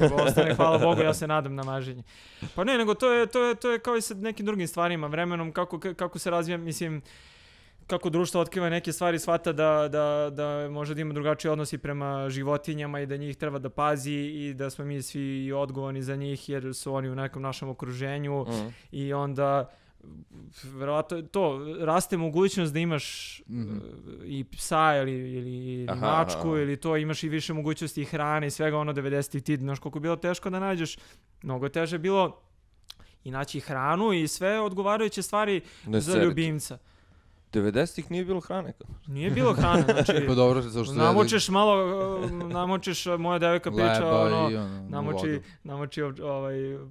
Nego ostane, hvala Bogu, ja se nadam na maženje. Pa ne, nego to je kao i sa nekim drugim stvarima, vremenom, kako se razvija, mislim, kako društvo otkriva neke stvari, shvata da može da ima drugačiji odnosi prema životinjama i da njih treba da pazi i da smo mi svi odgovorni za njih jer su oni u nekom našem okruženju i onda verovatno to raste mogućnost da imaš i psa ili mačku ili to, imaš i više mogućnosti i hrane i svega 90-ih ti, znaš koliko je bilo teško da nađeš, mnogo teže je bilo i naći hranu i sve odgovarajuće stvari za ljubimca. 90-ih nije bilo hrane. Nije bilo hrane, znači pa dobro, zašto namočiš moja devojka priča, namoči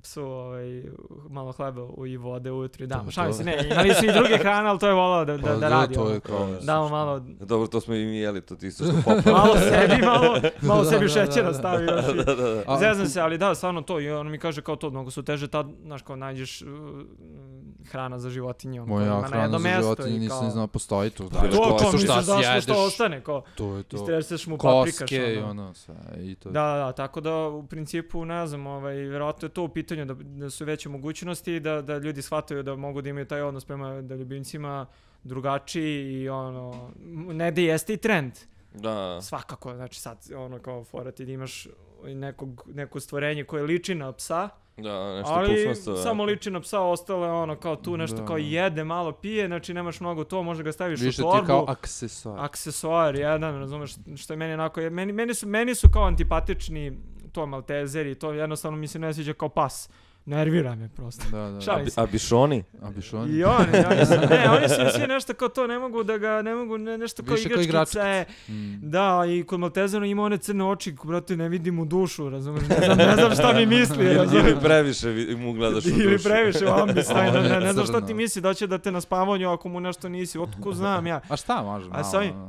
psu malo hleba i vode ujutru i damo. Šalim se, ne, imali su i druge hrane, ali to je volao da radi. Damo malo... Dobro, to smo i mi jeli, to ti isto što popao. malo sebi šećera stavi još i zeznam se, ali da, stvarno to, i on mi kaže kao to, mnogo su teže tad, znaš, kao nađeš hrana za životinje. Moja hrana za životinje nisam znao, postoji tu. Što ostane, kao istreseš mu paprikaš. Koske i ono sve. Da, tako da u principu, ne znam, vjerojatno je to u pitanju da su veće mogućnosti i da ljudi shvataju da mogu da imaju taj odnos prema ljubimcima drugačiji i ne da jeste i trend. Da. Svakako, znači sad kao fora ti da imaš neko stvorenje koje liči na psa, ali samo liči na psa, ostale kao tu nešto kao jede, malo pije, znači nemaš mnogo to, možda ga staviš u torbu. Više ti kao aksesuar, jedan, razumeš, što je meni onako, meni su kao antipatični to maltezeri, to jednostavno mi se ne sviđa kao pas. Nervira me prosto. A bišoni? I oni su svi nešto kao to, ne mogu nešto kao igračkice. Da, i kod Maltezera ima one crne oči, brate, ne vidim u dušu, razumiješ, ne znam šta mi misli. Ili previše mu gledaš u dušu. Ili previše u ambis, ne znam šta ti misli, da će da te na spavanju ako mu nešto nisi, otko znam ja. A šta može?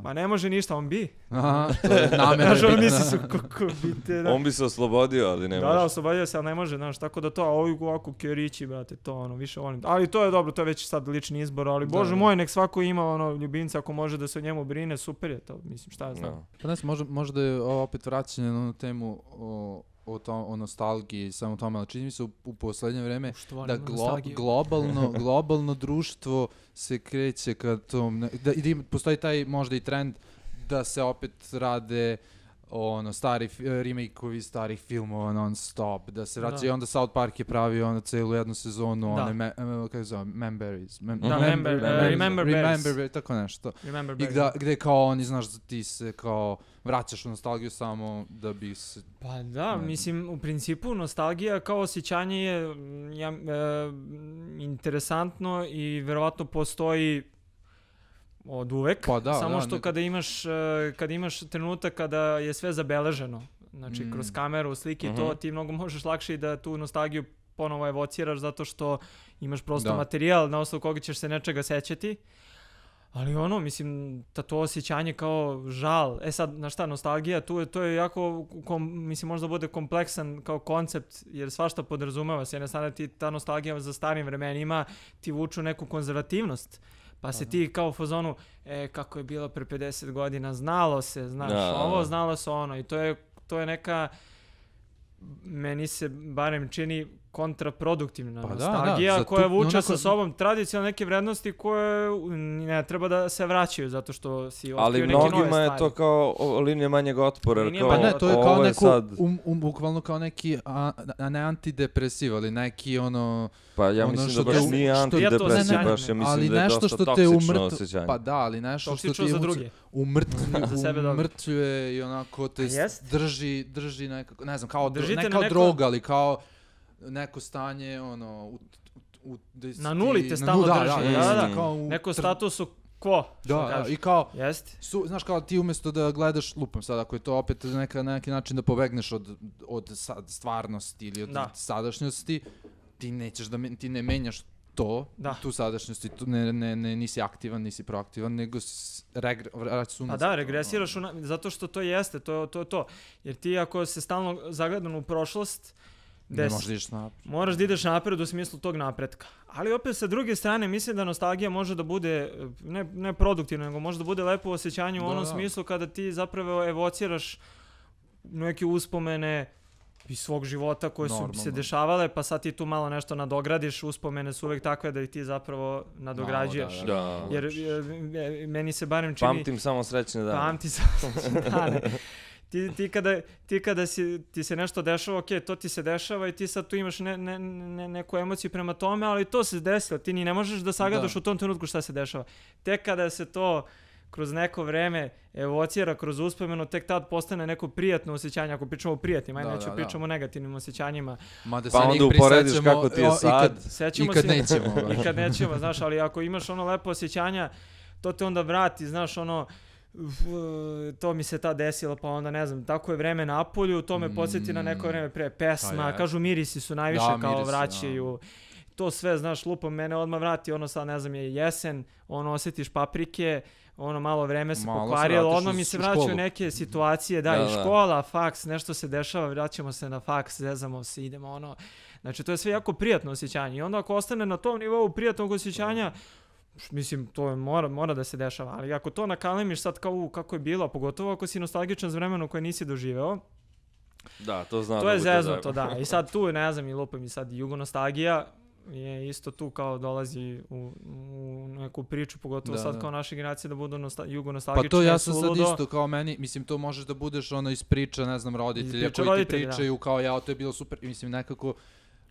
Ma ne može ništa, on bi. Aha, to je namjera bitna. On bi se oslobodio, ali ne može. Da, oslobodio se, ali ne može, znaš, tako da to, ovako kjerići, brate, to više volim. Ali to je dobro, to je već sad lični izbor, ali bože moj, nek svako ima ljubimca, ako može da se o njemu brine, super je to, mislim, šta ja znam. Pa ne znam, možda je ovo opet vraćanje na temu o nostalgiji, samo tome, ali čini mi se u poslednje vreme da globalno društvo se kreće ka tom, da postoji taj možda i trend da se opet rade stari remake-ovi starih filmova non stop, da se vraća i onda South Park je pravio celu jednu sezonu, kako zove, Remember, tako nešto. I gde kao oni, znaš, ti se kao vraćaš u nostalgiju samo da bi se... Pa da, mislim, u principu nostalgija kao osjećanje je interesantno i verovatno postoji od uvek, samo što kada imaš trenutak kada je sve zabeleženo, znači kroz kameru, slike, to ti mnogo možeš lakše da tu nostalgiju ponovo evociraš zato što imaš prosto materijal na osnovu koga ćeš se nečega sećati, ali mislim, to osjećanje kao žal, sad, znaš šta, nostalgija, to je jako, mislim, možda bude kompleksan kao koncept, jer svašta podrazumeva se, jedne strane ti ta nostalgija za starim vremenima ti vuču neku konzervativnost. Pa se ti kao u fazonu, kako je bilo pre 50 godina, znalo se, znaš, ovo, znalo se ono. I to je neka, meni se barem čini kontraproduktivna nostalgija koja vuče sa sobom tradicionalne neke vrednosti koje ne treba da se vraćaju zato što si otkrio neke nove stvari. Ali mnogima je to kao linija manjeg otpora. Pa ne, to je kao neko, bukvalno kao neki, ne antidepresiv, ali neki ono... Pa ja mislim da baš nije antidepresiv, baš ja mislim da je dosta toksično osjećanje. Pa da, ali nešto što ti umrtvljuje i onako te drži nekako, ne znam, kao droga, ali kao neko stanje, ono... Na nuli te stalno drži, neko statusu quo. Da, i kao, znaš, kao ti umjesto da gledaš, lupam sad, ako je to opet na neki način da pobegneš od stvarnosti ili od sadašnjosti, ti nećeš da, ti ne menjaš tu sadašnjosti, nisi aktivan, nisi proaktivan, nego vraćaš unazad. Pa da, regresiraš, zato što to jeste, to. Jer ti ako se stalno zagledan u prošlost, moraš da ideš napred u smislu tog napretka. Ali opet sa druge strane mislim da nostalgija može da bude ne produktivna, nego može da bude lepo osjećanje u onom smislu kada ti zapravo evociraš neke uspomene iz svog života koje su se dešavale, pa sad ti tu malo nešto nadogradiš, uspomene su uvek takve da ih ti zapravo nadograđuješ. Jer meni se barem čini... Pamtim samo srećne dane. Pamtim samo srećne dane. Ti kada ti se nešto dešava, to ti se dešava i ti sad tu imaš neku emociju prema tome, ali to se desilo, ti ni ne možeš da sagledaš u tom trenutku šta se dešava. Tek kada se to kroz neko vreme evocira kroz uspomenu, tek tad postane neko prijatno osjećanje, ako pričamo o prijatnim, neću pričamo o negativnim osjećanjima. Pa onda uporediš kako ti je sad i kad nećemo. I kad nećemo, znaš, ali ako imaš ono lepo osjećanja, to te onda vrati, znaš, ono, to mi se tad desilo, pa onda ne znam, tako je vreme na polju, to me podsjeti na neko vreme pre, pesma, kažu mirisi su najviše kao vraćaju, to sve, znaš, lupom mene odmah vrati, ono sad ne znam, je jesen, ono osjetiš paprike, ono malo vreme se pokvarilo, odmah mi se vraćaju neke situacije, i škola, faks, nešto se dešava, vraćamo se na faks, zezamo se, idemo ono, znači to je sve jako prijatno osjećanje i onda ako ostane na tom nivou prijatnog osjećanja, mislim, to mora da se dešava, ali ako to nakalemiš sad kao kako je bilo, pogotovo ako si nostalgičan za vremenu koje nisi doživeo, to je zeznuto, I sad tu, ne znam, i lupam i sad jugonostalgija je isto tu kao dolazi u neku priču, pogotovo sad kao naša generacija da budu jugonostalgični. Pa to ja sam sad isto kao meni, mislim, to možeš da budeš ono iz priča, ne znam, roditelja koji ti pričaju kao to je bilo super, mislim, nekako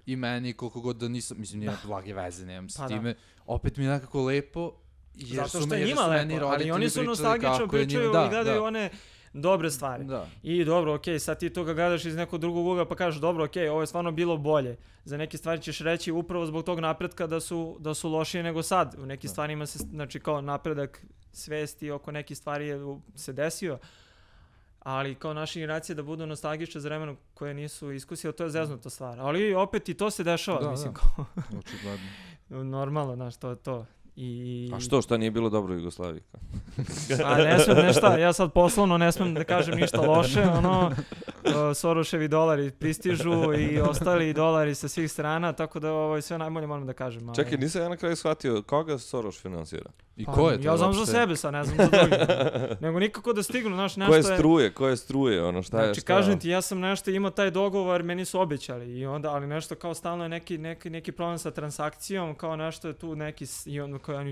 i meni, koliko god da nisam, mislim, nije blage veze, nemam s time, opet mi je nekako lepo, jer su meni roditelji ali oni su nostalgično pričaju i gledaju one dobre stvari. I dobro, sad ti to ga gledaš iz nekog drugog ugla pa kažeš, dobro, ovo je stvarno bilo bolje. Za neke stvari ćeš reći upravo zbog tog napretka da su lošije nego sad. U nekim stvarima se, znači kao napredak svesti oko nekih stvari se desio, ali kao naša generacija da budu nostalgične za vremenu koje nisu iskusile, to je zeznuta stvar. Ali opet i to se dešava, mislim kao... Normalno, znaš, to je to. A šta nije bilo dobro u Jugoslaviji? A ne smem nešto, ja sad poslovno ne smem da kažem ništa loše, Soroševi dolari pristižu i ostali dolari sa svih strana, tako da sve najbolje moram da kažem. Čekaj, nisam ja na kraju shvatio koga Soroš finansira? I ko je to? Ja znam za sebe sad, ne znam za drugi. Nego nikako da stignu, znaš, nešto je... Koje struje, ono šta je? Znači, kažem ti, ja sam nešto imao taj dogovor, meni su obećali i onda, ali nešto kao stalno je neki problem sa transakcijom, kao nešto je tu neki...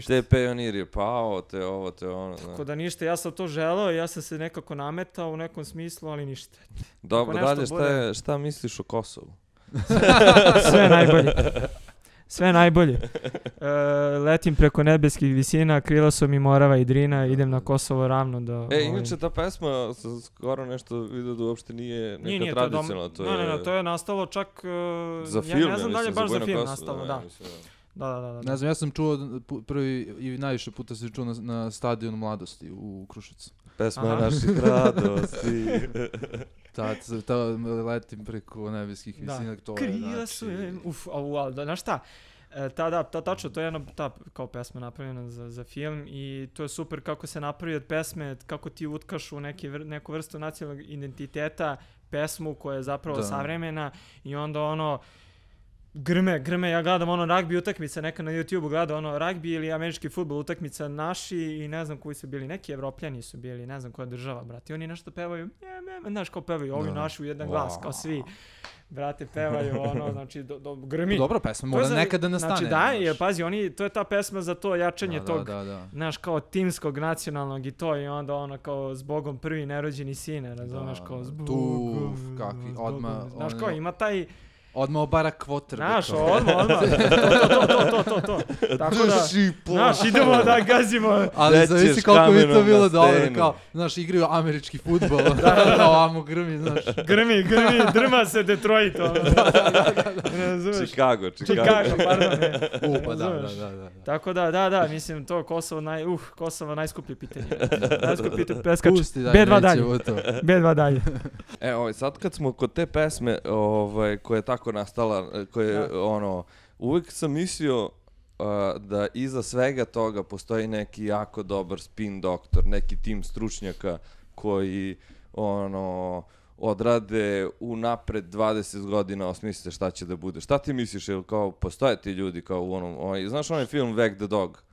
Te Pionir je pao, te ovo, te ono. Tako da ništa, ja sam to želeo i ja sam se nekako nametao u nekom smislu, ali ništa. Dobro, dalje, šta misliš o Kosovu? Sve najbolje. Letim preko nebeskih visina, krila su mi Morava i Drina, idem na Kosovo ravno da... Inače ta pesma, skoro nešto vidio da uopšte nije neka tradicionalna. Ne, to je nastalo čak... Za film, ja ne znam da li je baš za film nastalo, da. Da. Ne znam, ja sam čuo prvi i najviše puta se čuo na stadionu Mladosti u Kruševcu. Pesma naših radosti. Ta letim preko nebeskih visina. Krila su je... Znaš šta? Tačno, to je jedna kao pesma napravljena za film i to je super kako se napravi od pesme, kako ti utkaš u neku vrstu nacionalnog identiteta, pesmu koja je zapravo savremena i onda Grme, ja gledam ono ragbi utakmice, neka na YouTubeu gledam ono ragbi ili američki fudbal utakmica naši i ne znam koji su bili, neki Evropljani su bili, ne znam koja država, brate, oni nešto pevaju, znaš kao pevaju, ovi naši u jedan glas, kao svi, brate, pevaju ono, znači, grmi. Dobra pesma, mora nekada nastane. Znači da, jer pazi, to je ta pesma za to jačanje tog, znaš, kao timskog, nacionalnog i to, i onda ono kao zbogom prvi nerođeni sine, razumeš, kao zbogom, kakvi, odmah, znaš, kao ima taj, odmah obara kvoter. Znaš, odmah. To. Tako da, znaš, idemo da gazimo. Ali zavisi koliko bi to bilo dobro, kao, znaš, igraju američki fudbal, ovamo grmi, znaš. Grmi, drma se Detroit, ono. Chicago, pardon, ne. Pa da. Tako da, mislim, to Kosovo najskuplje pitanje. Najskuplje preskač. B2 dalje. Sad kad smo kod te pesme, koja je tako nastala, koje ono, uvijek sam mislio da iza svega toga postoji neki jako dobar spin doktor, neki tim stručnjaka koji ono odrade unapred 20 godina, osmisle šta će da bude. Šta ti misliš, ili kao postoje ti ljudi kao u onom, znaš onaj film Wag the Dog?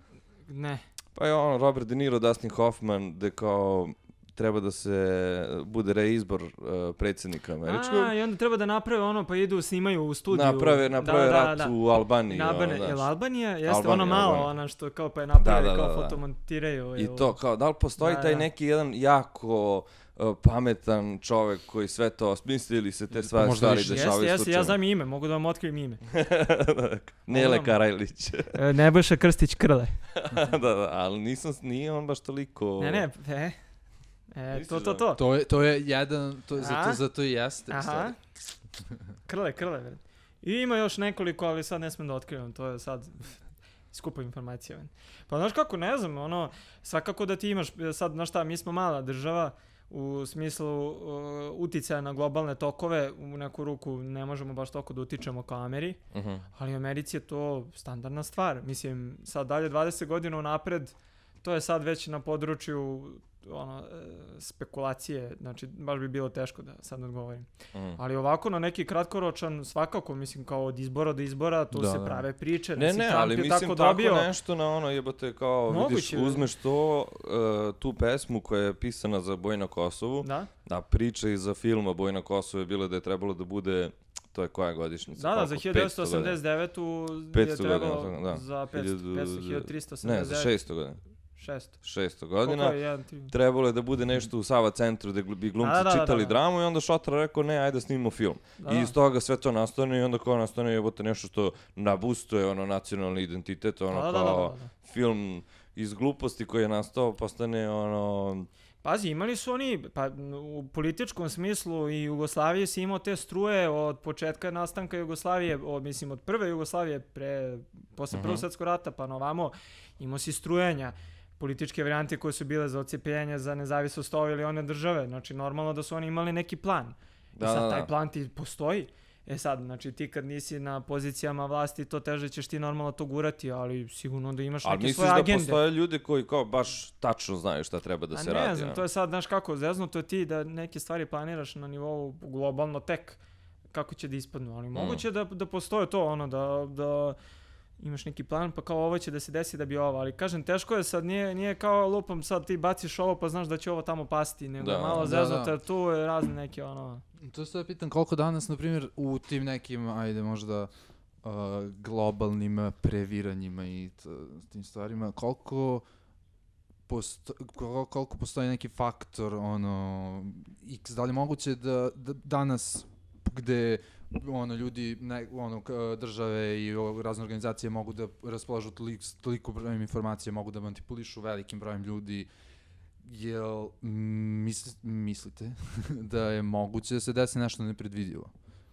Ne. Pa je ono Robert De Niro, Dustin Hoffman, gde kao treba da se bude reizbor predsjednika američkog. I onda treba da naprave ono, pa idu, snimaju u studiju. Naprave rat u Albaniji. Jel Albanija? Jeste ono malo, ono što kao pa je naprave, kao fotomontiraju. I to, kao, da li postoji taj neki jedan jako pametan čovek koji sve to osmisli ili se te stvari dešavaju slučajno? Jeste, ja znam ime, mogu da vam otkrijem ime. Nele Karajlić. Nebojša Krstić Krle. Da, ali nije on baš toliko... Ne, to. To je jedan, zato i jeste. Aha. Krle. I ima još nekoliko, ali sad ne smijem da otkrivam, to je sad skupa informacija. Pa znaš kako, ne znam, ono, svakako da ti imaš, sad, znaš šta, mi smo mala država, u smislu uticaja na globalne tokove, u neku ruku ne možemo baš toliko da utičemo kao Ameri, ali u Americi je to standardna stvar. Mislim, sad dalje 20 godina unapred, to je sad već na području spekulacije, znači baš bi bilo teško da sad odgovorim. Ali ovako na neki kratkoročan, svakako, mislim, kao od izbora do izbora, tu se prave priče. Ne, ali mislim tako nešto na ono, jebote, kao vidiš, uzmeš tu pesmu koja je pisana za Boj na Kosovu, da priča i za filma Boj na Kosovu je bilo da je trebalo da bude, to je koja godišnjica? Da, za 1989 je trebalo za 1389. Ne, za 600 godina. 600 godina. Trebalo je da bude nešto u Sava centru gde bi glumci čitali dramu i onda Šotra rekao ne, ajde snimimo film. I iz toga sve to nastane i onda kao nastane jebote nešto što nabustuje ono nacionalni identitet, ono kao film iz gluposti koji je nastao postane ono... Pazi, imali su oni, pa u političkom smislu i Jugoslavije si imao te struje od početka nastanka Jugoslavije, mislim od prve Jugoslavije posle Prvog svjetskog rata pa na ovamo, imao si strujanja, političke varijante koje su bile za odcepljenje, za nezavisnost ove ili one države. Znači, normalno da su oni imali neki plan. I sad taj plan ti postoji. Sad, znači ti kad nisi na pozicijama vlasti, to teže ćeš ti normalno to gurati, ali sigurno da imaš neke svoje agende. Ali misliš da postoje ljudi koji kao baš tačno znaju šta treba da se radi? Ne znam, to je sad, znaš kako, zeznuto je ti da neke stvari planiraš na nivou globalno tek kako će da ispadnu, ali moguće da postoje to, ono, da imaš neki plan, pa kao ovo će da se desi da bi ovo, ali kažem, teško je sad, nije kao lupom sad ti baciš ovo pa znaš da će ovo tamo pasti, nego malo zeznuto, jer tu je razne neke ono... To se pitam koliko danas, na primjer, u tim nekim, ajde možda, globalnim previranjima i tim stvarima, koliko postoji neki faktor, ono, x, da li je moguće da danas, gde ljudi, države i razne organizacije mogu da raspolažu toliko brojem informacija, mogu da manipulišu velikim brojem ljudi, jel mislite da je moguće da se desi nešto nepredvidivo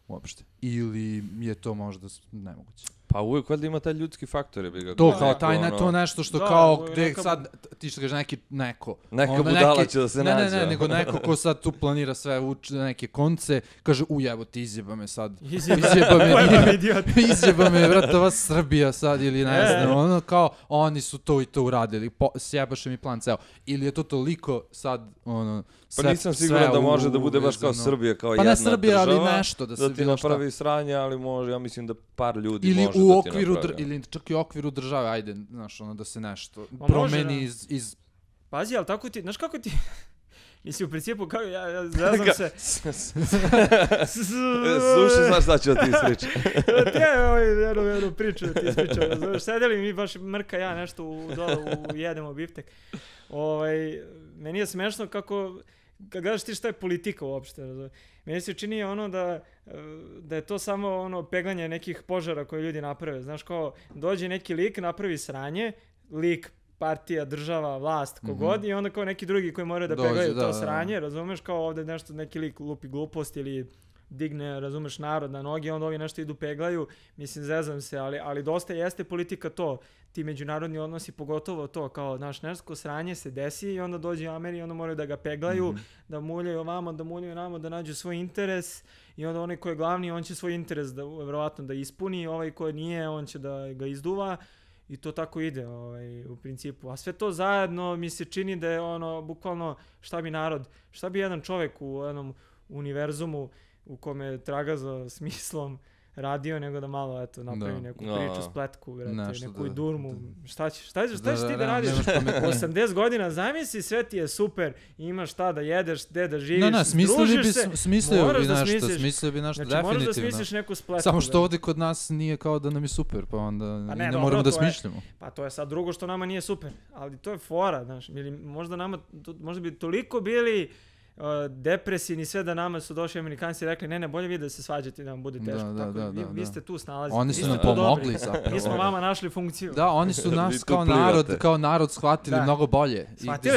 uopšte? Ili je to možda nemoguće? Pa uvijek valjda ima taj ljudski faktor, je bi ga. To kao taj to nešto što kao gde sad ti što kažeš neko budala će da se nađe. Ne, nego neko ko sad tu planira sve uči neke konce, kaže evo ti izjeba me sad. Izjeba me brate vas Srbija sad ili ne znam, ono kao oni su to i to uradili. Sjebaše mi plan ceo. Ili je to toliko sad ono pa nisam siguran da može da bude baš kao Srbija, kao jedna država. Pa ne Srbija, ali nešto da ti napravi sranje, ali može, ja mislim da par ljudi ili može u da okviru ti napravi. Ili čak i u okviru države, ajde, znaš, ono da se nešto promeni iz... Pazi, ali tako ti, znaš kako ti... Mislim, u principu, kao ja znam se... Slušaj, znaš šta ću da ti ispričam. Jednu priču da ti ispričam. Znaš, sedeli mi baš Mrka, ja nešto jedemo biftek. Meni je smešno kako... Kad gledaš ti šta je politika uopšte, meni se čini ono da je to samo ono peglanje nekih požara koje ljudi naprave. Znaš, kao dođe neki lik, napravi sranje, lik, partija, država, vlast, kogod, i onda kao neki drugi koji moraju da peglaju to sranje, razumeš, kao ovde nešto, neki lik lupi glupost ili digne, razumeš, narod na noge, onda ovi nešto idu peglaju, mislim, zezam se, ali dosta jeste politika to, ti međunarodni odnosi, pogotovo to, kao, znaš, nešto sranje se desi i onda dođe Ameri i onda moraju da ga peglaju, da muljaju ovamo, da muljaju namo, da nađu svoj interes i onda onaj ko je glavni, on će svoj interes verovatno da ispuni, ovaj ko nije, on će da ga izduva i to tako ide u principu. A sve to zajedno mi se čini da je ono, bukvalno, šta bi jedan čovek u jednom univerzumu u kome traga za smislom radio, nego da malo, eto, napravi neku priču, spletku, neku durmu. Šta ćeš ti da radiš? 80 godina, zamisli, sve ti je super, imaš šta da jedeš, gde da živiš, družiš se, smislio bi nešto, znači, moraš da smisliš neku spletku. Samo što ovdje kod nas nije kao da nam je super, pa onda ne moramo da smišljamo. Pa to je sad drugo što nama nije super, ali to je fora, znaš, možda bi toliko bili depresivni, sve da nama su došli Amerikanci i rekli ne, bolje vi da se svađate da vam bude teško. Vi ste tu snalazili. Oni su nam pomogli zapravo. Mi smo vama našli funkciju. Da, oni su nas kao narod shvatili mnogo bolje. Shvatili,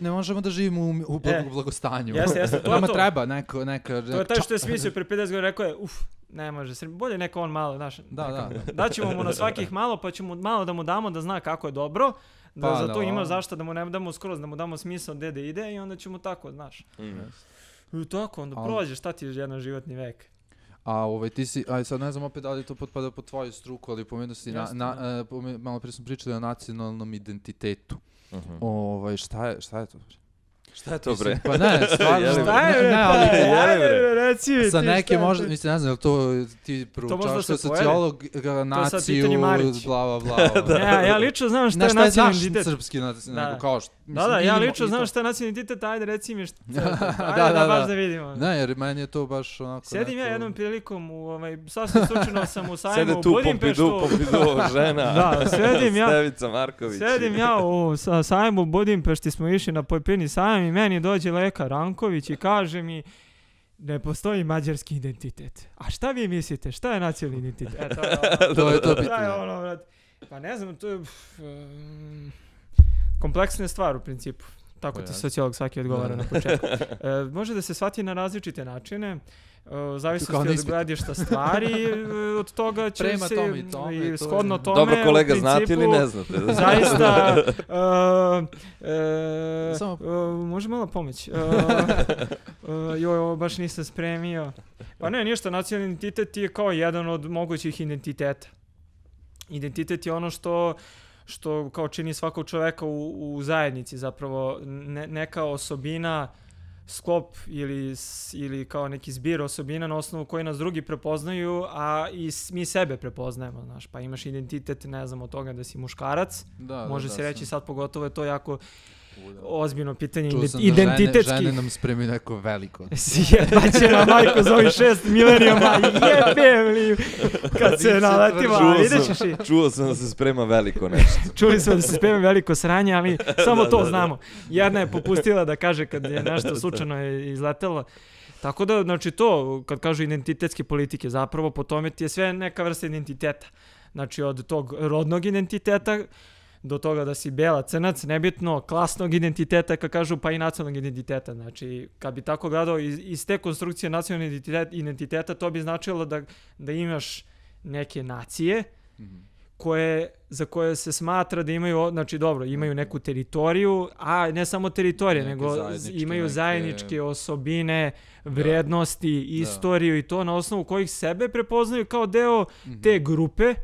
ne možemo da živimo u blagostanju. Jeste, nama treba neka... To je taj što je smislio pre 50 godina, rekao je, ne može, bolje neka on malo, znaš. Daćemo mu na svakih malo, pa ćemo malo da mu damo da zna kako je dobro, da za to ima zašto, da mu ne damo skroz, da mu damo smisao gde da ide i onda ćemo tako, znaš. I tako, onda prođe, šta ti je jedan životni vek. A ti si, sad ne znam opet da li to potpada po tvoju struku, ali pomenuo si, malo prije smo pričali o nacionalnom identitetu. Šta je to? Šta je to, bre? Pa ne, stvarno. Reci sa neke možda, mislim, ne znam, je li to ti proučavaš kao sociolog, naciju, bla. Ne, ja lično znam šta je nacionalni identitet. Srpski nacionalni, kao što... Da, ja lično znam šta je nacionalni identitet, ajde reci mi šta. Ajde da baš da vidimo. Ne, jer meni je to baš onako... Sedim ja jednom prilikom, sasvim slučajno sam u sajmu u Budimpeštu. Sede tu Pompidou, žena. Da, Stevica Marković. Sedim ja u sajmu u Budimpešti, smo išli na Pojpeni sajam i meni dođe lekar Ranković i kaže mi ne postoji mađarski identitet. A šta vi mislite? Šta je nacionalni identitet? To je to pitanje. Pa ne znam, to je kompleksna stvar u principu. Tako ti sociolog svaki odgovara na početku. Može da se shvati na različite načine. Zavisnosti od gledišta stvari, od toga će se i shodno tome. Dobro, kolega, znate ili ne znate? Zaista, može malo pomoć. Ovo baš nisam spremio. Pa ne, ništa, nacionalni identitet je kao jedan od mogućih identiteta. Identitet je ono što kao čini svakog čoveka u zajednici, zapravo neka osobina, sklop ili kao neki zbir osobina na osnovu koji nas drugi prepoznaju, a i mi sebe prepoznajemo, znaš, pa imaš identitet, ne znam, od toga da si muškarac, može se reći sad, pogotovo je to jako ozbiljno pitanje, identitetski. Čuo sam da žene nam spremi neko veliko. Jebaće na majku za ovih 6 milenijuma, jebem, kad se naletima, vidjet ćeš i... Čuo sam da se sprema veliko nešto. Čuli smo da se sprema veliko sranje, ali samo to znamo. Jedna je popustila da kaže kad je nešto slučajno izletelo. Tako da, znači to, kad kažu identitetske politike, zapravo po tome ti je sve neka vrsta identiteta. Znači od tog rodnog identiteta, do toga da si bela, crnac, nebitno, klasnog identiteta, kad kažu, pa i nacionalnog identiteta. Znači, kad bi tako gledao iz te konstrukcije nacionalnog identiteta, to bi značilo da imaš neke nacije za koje se smatra da imaju, znači dobro, imaju neku teritoriju, a ne samo teritorije, nego imaju zajedničke osobine, vrednosti, istoriju i to na osnovu kojih sebe prepoznaju kao deo te grupe.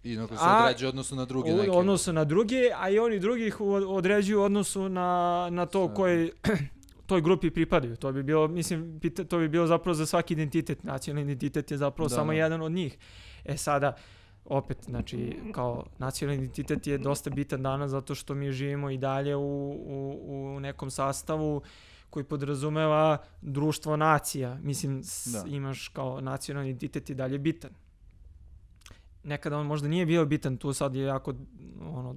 I na koji se određuju odnosu na druge neke. Odnosu na druge, a i oni drugih određuju odnosu na to koji toj grupi pripadaju. To bi bilo, mislim, to bi bilo zapravo za svaki identitet. Nacionalni identitet je zapravo samo jedan od njih. Sada, opet, znači, kao nacionalni identitet je dosta bitan danas zato što mi živimo i dalje u nekom sastavu koji podrazumeva društvo nacija. Mislim, imaš kao nacionalni identitet i dalje bitan. Nekada on možda nije bio bitan, tu sad je jako,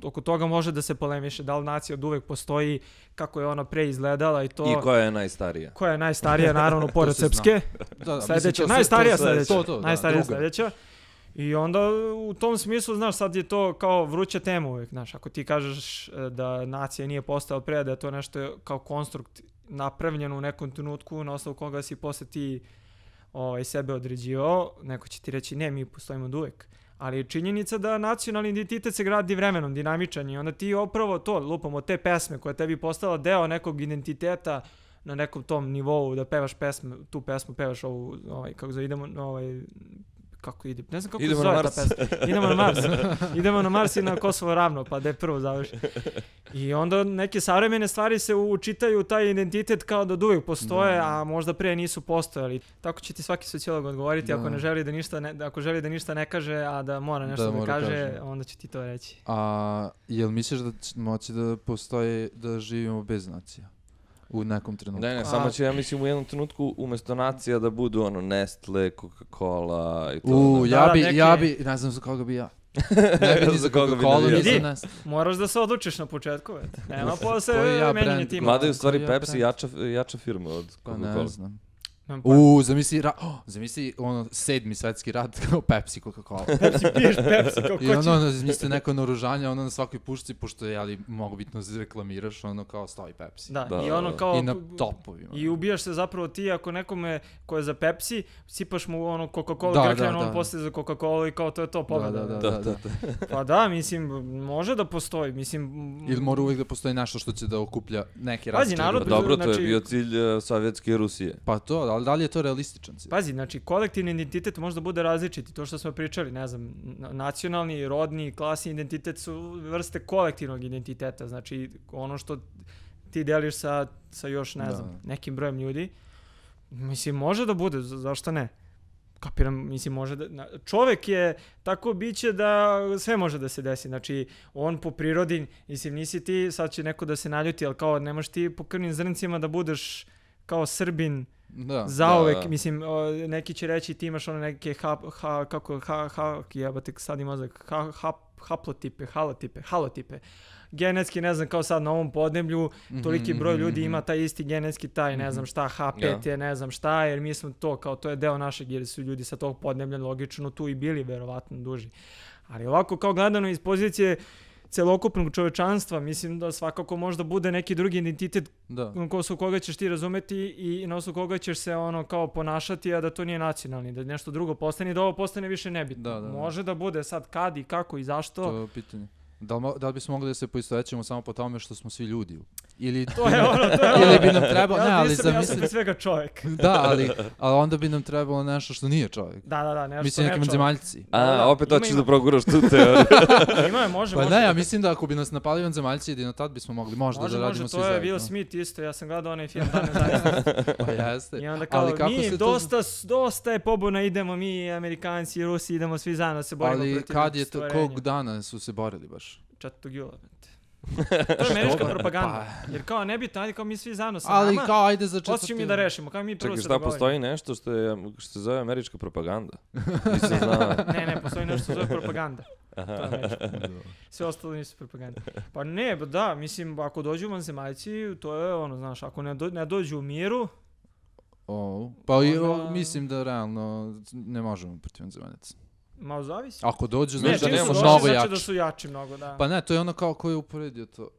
oko toga može da se polemiše, da li nacija od uvek postoji, kako je ona pre izgledala i to. I koja je najstarija? Koja je najstarija, naravno, pored srpske. Sledeća, najstarija sledeća. I onda u tom smislu, znaš, sad je to kao vruća tema uvijek, znaš, ako ti kažeš da nacija nije postojala pre, da je to nešto kao konstrukt napravljeno u nekom trenutku na osnovu koga si posle ti sebe određivao, neko će ti reći ne, mi postojimo od uvek. Ali je činjenica da nacionalni identitet se gradi vremenom, dinamičan i onda ti upravo to lupamo te pesme koja tebi postala deo nekog identiteta na nekom tom nivou da pevaš pesme, tu pesmu pevaš ovu, kako zove, idemo, kako ide, ne znam kako se zove ta pesma. Idemo na Mars i na Kosovo ravno, pa da je prvo završi. I onda neke savremene stvari se učitaju taj identitet kao da uvijek postoje, a možda pre nisu postojali. Tako će ti svaki sociolog odgovoriti ako ne želi ako želi da ništa ne kaže, a da mora nešto da kaže, onda će ti to reći. A jel misliš da će moći da postoji, da živimo bez nacija? U nekom trenutku. Ne, samo će, ja mislim, u jednom trenutku umjesto nacija da budu Nestle, Coca-Cola i to. Ja bi, ne znam za koga bi ja. Ne bi ni za Coca-Cola, ni za Nestle. Moraš da se odlučiš na početku, nema posle menjanje tima. Mada je u stvari Pepsi jača firma od Coca-Cola. Ne znam. Zamisli 7. svetski rat kao Pepsi, Coca-Cola. Piješ Pepsi kao koći. I ono, zamisli neko naoružanje, na svakoj pušci, pošto je, mogu bitno reklamiraš, kao stoji Pepsi. I ono kao... I na topovima. I ubijaš se zapravo ti ako nekome ko je za Pepsi, sipaš mu Coca-Cola grkljano, on postaje za Coca-Cola i kao to je to pobjeda. Da. Pa da, mislim, može da postoji, mislim... Ili mora uvijek da postoji nešto što će da okuplja neki različite. Dobro, to je bio cilj Sovjetske Rusije. Pa to, ali da li je to realističan cilj? Pazi, znači, kolektivni identitet možda bude različiti. To što smo pričali, ne znam, nacionalni, rodni, klasni identitet su vrste kolektivnog identiteta. Znači, ono što ti deliš sa još, ne znam, nekim brojem ljudi, mislim, može da bude, zašto ne? Kapiram, mislim, može da... Čovek je tako biće da sve može da se desi. Znači, on po prirodi, mislim, nisi ti, sad će neko da se naljuti, ali kao nemaš ti po krvnim zrncima da budeš kao Srbin zauvek, mislim, neki će reći ti imaš ono neke halotipe. Genetski, ne znam, kao sad na ovom podneblju, toliki broj ljudi ima taj isti genetski taj, ne znam šta, H5 je, ne znam šta, jer mi smo to, kao to je deo našeg, jer su ljudi sa tog podneblja logično tu i bili verovatno duži. Ali ovako, kao gledano iz pozicije celokupnog čovečanstva, mislim da svakako možda bude neki drugi identitet na osnovu koga ćeš ti razumeti i na osnovu koga ćeš se kao ponašati, a da to nije nacionalni, da nešto drugo postane i da ovo postane više nebitno. Može da bude sad kad i kako i zašto. To je pitanje. Da li bismo mogli da se poistovećemo samo po tome što smo svi ljudi? Ili bi nam trebalo... Ja sam pre svega čovjek. Da, ali onda bi nam trebalo nešto što nije čovjek. Da, nešto mislim, nekim zemaljci. Opet hoćeš da proguraš tu teoriju. Može. Pa ne, ja mislim da ako bi nas napali vanzemaljci, jedino tad bismo mogli možda da radimo svi zajedno. To je Will Smith isto, ja sam gledao onaj film Dane zajedno. Pa jeste. I onda kao, dosta je pobuna, idemo mi, Amerikanci i Rusi, idemo svi zajedno se borimo protiv stvorenja. Ali kad je kog dana su se borili baš? 4. jula. To je američka propaganda. Jer kao nebitno, ajde kao mi svi zajedno sa nama. Ali kao ajde za 4. Hoćemo mi da rešimo, kao mi prvo se dogovorimo. Čekaj, šta postoji nešto što se zove američka propaganda? Nisam znao. Ne, postoji nešto što se zove propaganda. To je američka. Sve ostalo nisu propaganda. Pa ne, da, mislim, ako dođu vanzemaljci, to je ono, znaš, ako ne dođu u miru... Pa mislim da realno ne možemo protiv vanzemaljaca. Malo zavisi. Ako dođu, znači da nemamo mnogo jači. Znači da su jači mnogo, da. Pa ne, to je ono kao ko je uporedio to.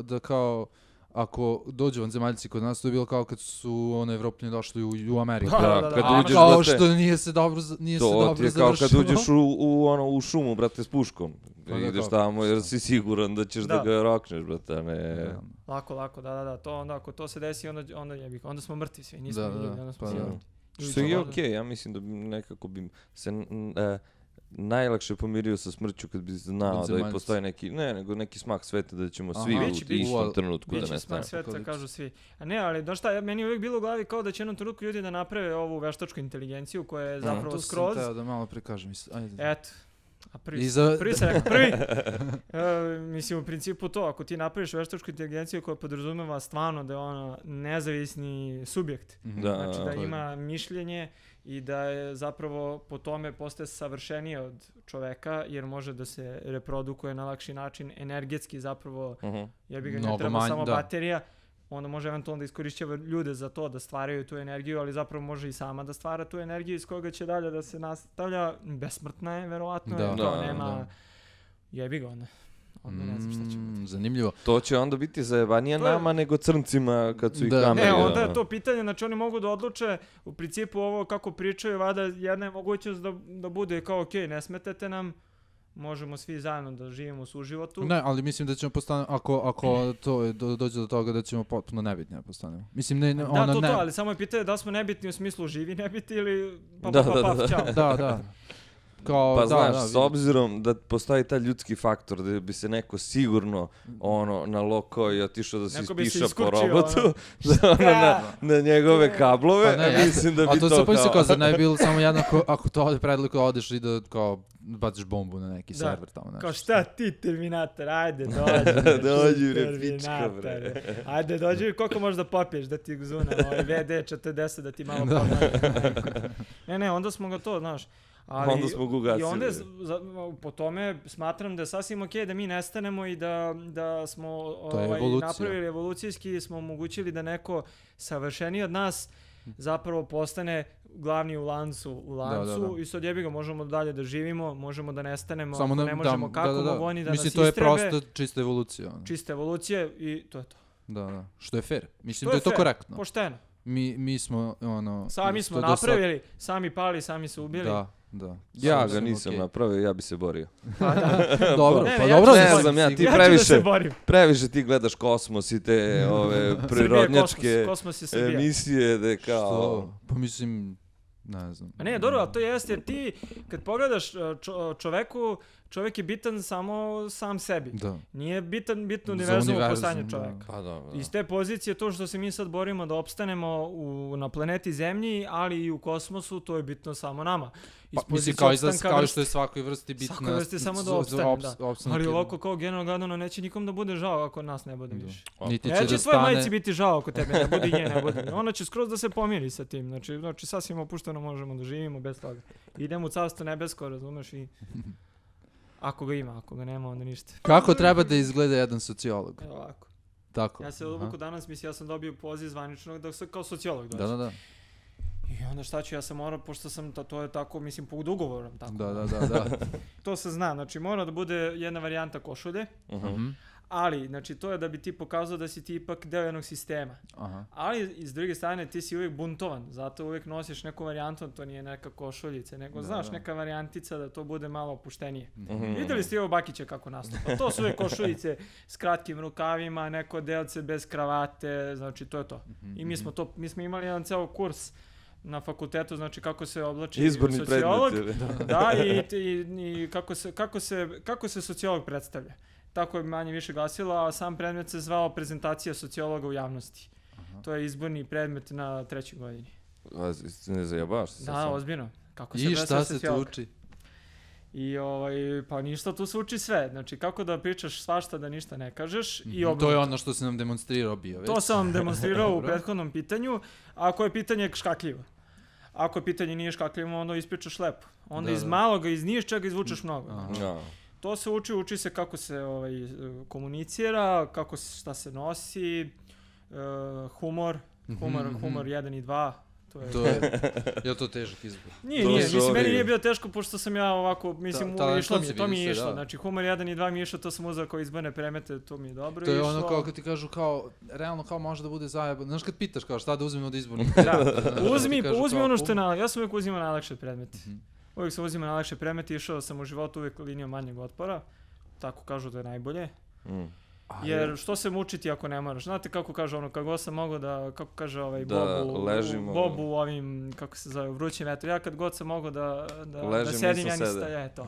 Da kao, ako dođu vanzemaljci kod nas, to je bilo kao kad su Evropljani došli u Ameriku. Kad uđeš, kao što nije se dobro završilo. To je kao kad uđeš u šumu, brate, s puškom. Ideš tamo jer si siguran da ćeš da ga rokneš, brate, a ne... Lako, da. To onda, ako to se desi, onda smo mrtvi svi, nismo ljudi, onda smo svi mrtvi. Što je okej, ja mislim da nekako bi se najlakše pomirio sa smrću kad bi znao da postoji neki smak sveta da ćemo svi u istom trenutku da nestane. Biće smak sveta, kažu svi. A ne, ali znaš šta, meni je uvijek bilo u glavi kao da će jednom trenutku ljudi da naprave ovu veštačku inteligenciju koja je zapravo skroz... To sam teo da malo prikažem. Eto. A prvi sam rekao, mislim, u principu to, ako ti napraviš veštačku inteligenciju koja podrazumeva stvarno da je ona nezavisni subjekt, znači da ima mišljenje i da je zapravo po tome postaje savršenije od čoveka, jer može da se reprodukuje na lakši način, energetski zapravo, jebi ga, ne treba samo baterija, onda može eventualno da iskorišćava ljude za to da stvaraju tu energiju, ali zapravo može i sama da stvara tu energiju iz koga će dalje da se nastavlja. Besmrtna je, verovatno, nema... Jebi ga onda ne znam šta će biti. Zanimljivo. To će onda biti zajebanije nama nego crncima kad su ih kamere. Ne, onda je to pitanje, znači oni mogu da odluče, u principu ovo kako pričaju, vada jedna je mogućnost da bude kao okej, ne smetete nam, možemo svi zajedno da živimo u suživotu. Ne, ali mislim da ćemo postane, ako to dođe do toga da ćemo potpuno nebitni da postanemo. Mislim, ali samo je pitanje da smo nebitni u smislu živi nebitni ili čao. Da. Kao, znaš, s obzirom da postoji taj ljudski faktor, da bi se neko sigurno nalokao i otišao da se ispiša po robotu na njegove kablove, mislim da bi to kao... A to se pomisli kao, zar ne bi bilo samo jedno, ako to ode predliko, odeš i da kao baciš bombu na neki server tamo. Kao šta ti, Terminator, ajde dođi repička, bre. Ajde dođi, koliko možeš da popiješ da ti zuna, VD40 da ti malo popiješ. Ne, onda smo ga to, znaš. Onda smo ga ugasili. I onda po tome smatram da je sasvim okej da mi nestanemo i da smo napravili evolucijski, smo omogućili da neko savršeniji od nas zapravo postane glavni u lancu i sad jebi ga, možemo dalje da živimo, možemo da nestanemo, ako ne možemo kako, mogu oni da nas istrebe. Mislim, to je prosto čista evolucija. Čista evolucija i to je to. Da, što je fair. Mislim da je to korektno. Pošteno. Mi smo, sami smo napravili, sami pali, sami se ubili. Da. Ja ga nisam napravio, ja bi se borio. Dobro, ne znam, ti previše ti gledaš Kosmos i te prirodnjačke emisije da kao... Pa mislim, ne znam. Ne, dobro, ali to jeste jer ti kad pogledaš čovjek je bitan samo sam sebi. Da. Nije bitno univerzum u postojanju čovjeka. Iz te pozicije to što se mi sad borimo da opstanemo na planeti Zemlji, ali i u kosmosu, to je bitno samo nama. Mislim, kao što je svakoj vrsti bitno. Svakoj vrsti samo da opstanem, da. Ali ovako kao generalno gledano neće nikom da bude žao ako nas ne bude više. Neće tvojoj majici biti žao ako tebe ne bude i nje ne bude. Ona će skroz da se pomiri sa tim. Znači sasvim opušteno možemo da živimo bez toga. Idemo u carstvo nebesko, razumeš, i... Ako ga ima, ako ga nema, onda ništa. Kako treba da izgleda jedan sociolog? Evo ovako. Tako. Ja se odluku danas, mislim, ja sam dobio poziv zvaničnog da se kao sociolog dođe. Da. I onda šta ću, ja sam morao, pošto sam, to je tako, mislim, pod ugovorom. Tako. Da. To se zna, znači mora da bude jedna varijanta košulje, ali, znači, to je da bi ti pokazao da si ti ipak deo jednog sistema. Ali, iz druge strane, ti si uvijek buntovan, zato uvijek nosiš neku varijantu, to nije neka košuljica, nego znaš, neka varijantica da to bude malo opuštenije. Vidjeli ste ovo Bakića kako nastupa? To su uvijek košuljice s kratkim rukavima, neko delce bez kravate, znači to je to. I mi smo imali jedan ceo kurs na fakultetu, znači kako se oblači sociolog. Da, i kako se sociolog predstavlja. Tako je manje više glasilo, a sam predmet se zvao prezentacija sociologa u javnosti. To je izborni predmet na 3. godini. Ne zajebavaš se? Da, ozbiljno. I šta se tu uči? I pa ništa, tu se uči sve. Znači kako da pričaš svašta, da ništa ne kažeš. To je ono što si nam demonstrirao bio već. To sam vam demonstrirao u prethodnom pitanju. Ako je pitanje škakljivo. Ako pitanje nije škakljivo, onda ispričaš lepo. Onda iz maloga, iz ničega izvučeš mnogo. To se uči se kako se komunicira, šta se nosi, humor 1 i 2, Je to težak izbor? Nije, mislim, meni nije bio teško, pošto sam ja ovako, mislim, to mi je išlo, znači humor 1 i 2 mi je išlo, to sam uzeo kao izborne predmete, to mi je dobro išlo. To je ono kao kad ti kažu kao, realno kao može da bude zajebano, znaš kad pitaš kao šta da uzmem od izbornih predmeta. Uzmi ono što je ja sam uvijek uzimao najlakše predmete. Uvijek sam uzimao najlakše predmete, išao sam u životu uvijek linijom manjeg otpora, tako kažu da je najbolje. Jer što se mučiti ako ne moraš? Znate kako kaže ono, kako sam mogao da, kako kaže Bobu u ovim, kako se zove, vrućim vetru. Ja kad god sam mogao da sedim, ja nisam to.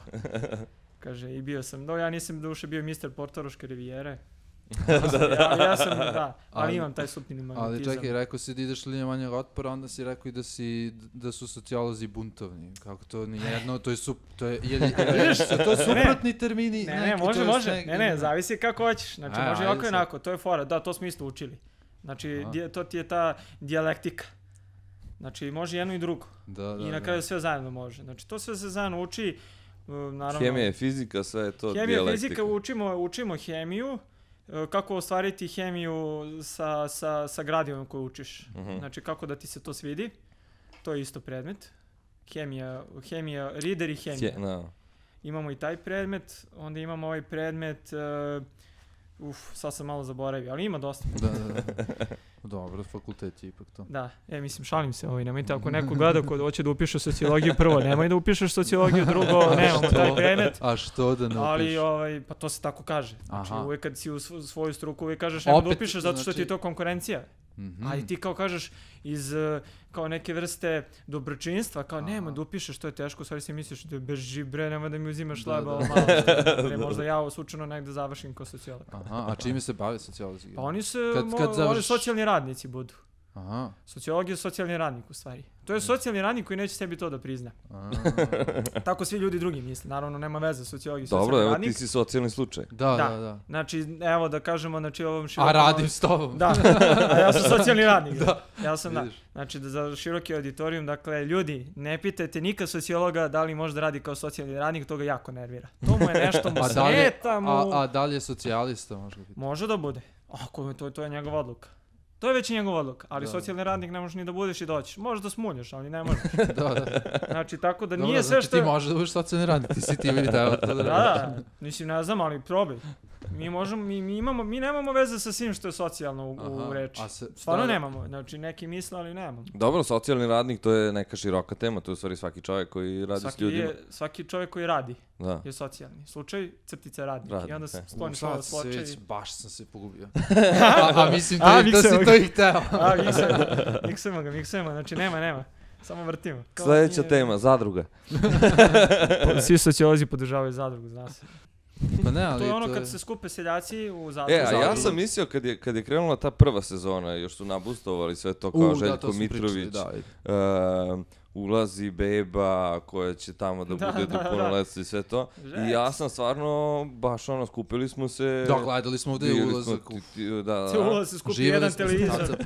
Kaže, i bio sam, ja nisam duše bio Mr. Portoroške rivijere. Ja sam, ali imam taj supnini magnetizam. Ali čekaj, rekao si da ideš linijom manjeg otpora, onda si rekao i da su sociolozi buntovni. Kako to nije jedno, to je suprotni termini. Ne, može. Ne, zavisi kako hoćeš. Znači, može i ovako i onako, to je fora. Da, to smo isto učili. Znači, to ti je ta dijalektika. Znači, može jedno i drugo. I na kraju sve zajedno može. Znači, to sve se zajedno uči. Hemija, fizika, sve je to dijalektika. Hemija, fizika, učimo hemiju. Kako ostvariti hemiju sa gradivom koju učiš. Znači, kako da ti se to svidi. To je isto predmet. Hemija, reader i hemija. Imamo i taj predmet. Onda imamo ovaj predmet... sad sam malo zaboravio, ali ima dosta. Dobro, fakultet je ipak to. Da, mislim, šalim se, nemojte, ako neko gleda ko hoće da upiše sociologiju prvo, nemoj da upišeš sociologiju, drugo, nemamo taj predmet. A što da ne upišeš? Ali, pa to se tako kaže. Znači, uvijek kad si u svoju struku, uvijek kažeš nemoj da upišeš zato što ti je to konkurencija. Ali ti kao kažeš iz kao neke vrste dobročinstva, kao nemoj da upišeš, to je teško, stvari si misliš da beži bre, nemoj da mi uzimaš šleba, malo možda ja slučajno negde završim kao sociolog. A čime se bave sociolozi? Pa oni socijalni radnici budu. Sociolog je socijalni radnik u stvari. To je socijalni radnik koji neće sebi to da prizna. Tako svi ljudi drugi misle. Naravno, nema veze sociolog i socijalni radnik. Dobro, evo ti si socijalni slučaj. Da. Znači, evo da kažemo, ovom širokom... A radim s tobom. Da, a ja sam socijalni radnik. Ja sam, Znači, za široki auditorijum, dakle, ljudi, ne pitajte nikad sociologa da li može da radi kao socijalni radnik, to ga jako nervira. To mu je nešto mu smeta mu... A da li je socijalista, može biti? Može da bude. Ako to je njegova odluka. To je već njegov odluka, ali socijalni radnik ne možeš ni da budeš i doćiš. Možeš da smunješ, ali ne možeš. Znači, tako da nije sve što... Ti možeš da budeš socijalni radnik, ti si ti video. Da, mislim, ne znam, ali probaj. Mi nemamo veze sa svim što je socijalno u reči. Stvarno nemamo, znači neki misle, ali nemamo. Dobro, socijalni radnik to je neka široka tema, to je u stvari svaki čovjek koji radi s ljudima. Svaki čovjek koji radi je socijalni. Slučaj, crtica radnik. I onda skloniš ovo slučaj. Baš sam se pogubio. A mislim da si to i hteo. Miksujemo, znači nema. Samo vrtimo. Sljedeća tema, zadruga. Svi sociolozi podržavaju zadrugu, zna se. Pa ne, ali to je ono kad se skupe seljaci u zadrugu. A ja sam mislio kad je krenula ta prva sezona, još su nabustovali sve to kao Željko Mitrović, ulazi beba koja će tamo da bude do punoletstva i sve to. I ja sam stvarno, baš skupili smo se... Da, gledali smo ovdje ulazak. Ulaz se skupi jedan televizor.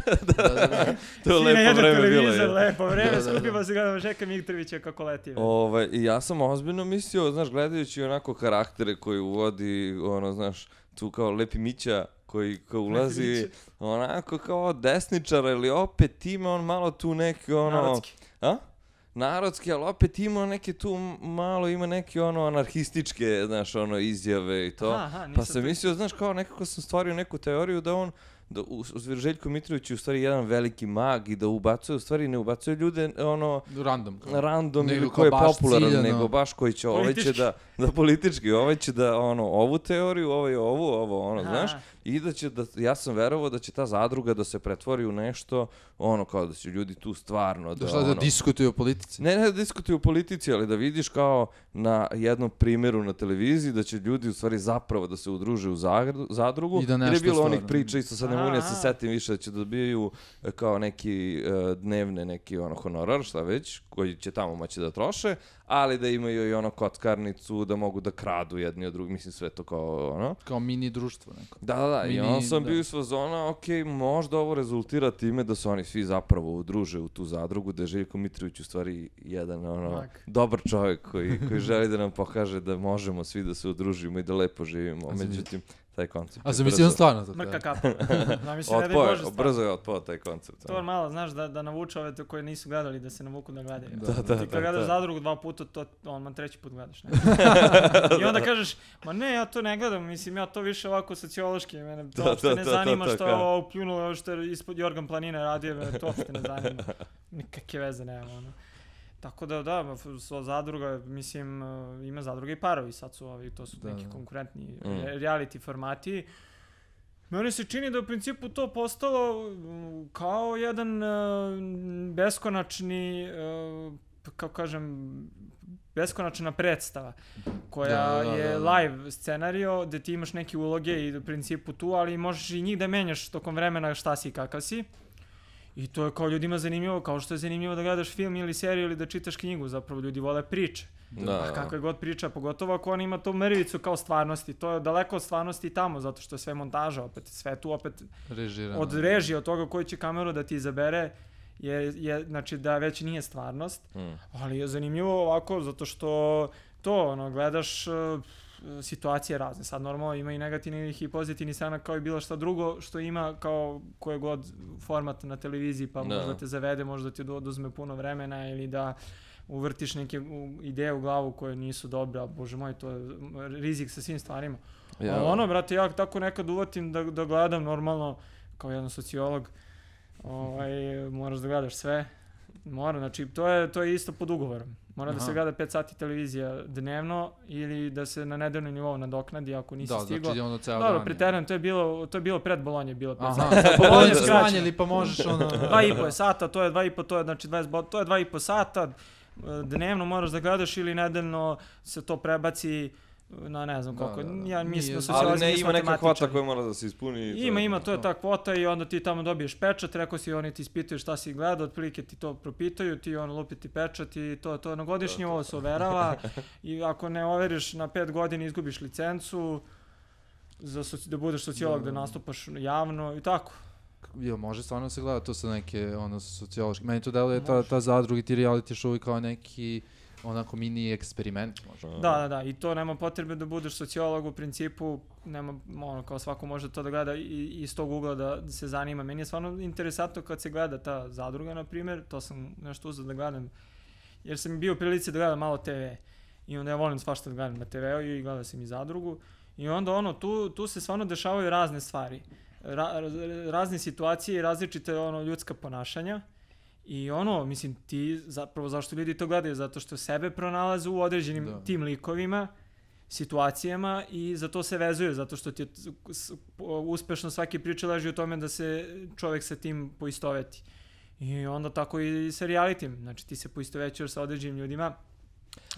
To je lepo vreme bilo. Lepo vreme, skupimo se gledamo Željka Mitrovića kako leti. I ja sam ozbiljno mislio, znaš, gledajući onako karaktere koji uvodi, znaš, tu kao Lepi Mića, koji ulazi onako kao desničar, ili opet ima on malo tu neki Narodski. Narodski, ali opet ima neke tu malo, ima neke anarhističke, znaš, izjave i to. Pa sam mislio, znaš, kao nekako sam stvario neku teoriju da on, Željko Mitrović je u stvari jedan veliki mag i da ubacuje, u stvari ne ubacuje ljude, random ili ko je popularan, nego baš koji će, ovaj će da politički, ovaj će da, ovu teoriju, ovaj ovo, znaš, i da će, ja sam verovao da će ta zadruga da se pretvori u nešto, kao da će ljudi tu stvarno da diskutuju o politici. Ne da diskutuju o politici, ali da vidiš kao na jednom primjeru na televiziji da će ljudi u stvari zapravo da se udruže u zadrugu, jer je bilo onih priča, isto sad ne mogu ja se setim više, da će dobijaju kao neki dnevne, neki honorar, šta već, koji će tamo moći da troše, ali da imaju i kockarnicu, da mogu da kradu jedni od drugih, mislim sve to kao kao mini društvo neko. Da, i on sam bio iz fazona, možda ovo rezultira time da se oni svi zapravo udruže u tu zadrugu, da je Željko Mitrović u stvari jedan dobar čovjek koji želi da nam pokaže da možemo svi da se udružimo i da lepo živimo. Međutim, taj koncept. A zamisli on stvarno to. Mrka kapa. Da, mislim, ne da je Bože stvarno. Brzo je otpao taj koncept. To je malo, znaš, da navuče ove koji nisu gledali, da se navuku da gledaju. Da, ti kad gledaš Zadrugu 2 puta, to on treći put gledaš. Ne? I onda kažeš, ma ne, ja to ne gledam, mislim, ja to više ovako sociološki, mene to uopšte ne zanima što je ovo upljunulo, što je ispod Jorgan Planine radio, mene to uopšte ne zanima. Nikakve veze nema, ono. Tako da, Zadruga, mislim, ima Zadruga i Parovi, sad su ovi, to su neki konkurentni reality formati. Meni se čini da u principu to postalo kao jedan beskonačni, kako kažem, beskonačna predstava koja je live scenario gde ti imaš neke uloge i u principu tu, ali možeš i njih da menjaš tokom vremena šta si i kakav si. I to je kao ljudima zanimljivo, kao što je zanimljivo da gledaš film ili seriju ili da čitaš knjigu, zapravo ljudi vole priče. A kakva je god priča, pogotovo ako on ima tu mrvicu kao stvarnosti, to je daleko od stvarnosti tamo, zato što je sve montaža, opet sve tu opet od režije, od toga koju će kameru da ti izabere, znači da već nije stvarnost, ali je zanimljivo ovako, zato što to, gledaš situacije razne. Sad normalno ima i negativnih i pozitivnih strana kao i bilo šta drugo što ima kao koje god format na televiziji, pa možda te zavede, možda ti oduzme puno vremena ili da uvrtiš neke ideje u glavu koje nisu dobre, a bože moj, to je rizik sa svim stvarima. Ali brate, ja tako nekad uvatim da gledam normalno, kao jedan sociolog, moraš da gledaš sve. Znači to je isto pod ugovorom. Mora da se gleda 5 sati televizija dnevno ili da se na nedeljnom nivou nadoknadi ako nisi stigao. Dobro, preterujem, to je bilo pred Bolonje, bilo 5 sati. Bolonje smanjili pa možeš 2,5 sata, to je 2,5, to je znači 20, to je 2,5 sata. Dnevno moraš da gledaš ili nedeljno se to prebaci na ne znam koliko. Ja mislim da ali ne ima neka kvota koja mora da se ispuni. Ima, to je ta kvota i onda ti tamo dobiješ pečat, rekao si oni ti ispitaju šta si gledao, otprilike ti to propitaju, ti lupi ti pečat i to na godišnje ovo se overava i ako ne overiš na 5 godina izgubiš licencu da budeš sociolog, da nastupaš javno i tako. Može stvarno se gleda to sa neke sociološke. Meni to deluje ta Zadruga i ti reality show kao neki onako mini eksperiment možda. Da, i to nema potrebe da budeš sociolog u principu, nema, kao svako može to da gleda i iz tog ugla da se zanima. Meni je stvarno interesantno kad se gleda ta Zadruga, na primjer, to sam nešto uzeo da gledam, jer sam bio u prilici da gledam malo TV i onda ja volim svašta da gledam na TV-u i gledam sam i Zadrugu i onda tu se stvarno dešavaju razne stvari, razne situacije i različite ljudska ponašanja. I mislim, ti zapravo zašto ljudi to gledaju? Zato što sebe pronalaze u određenim tim likovima, situacijama i za to se vezuju, zato što ti uspešno svaki priča leži u tome da se čovjek sa tim poistoveti. I onda tako i sa realitim, znači ti se poistovećuješ sa određenim ljudima.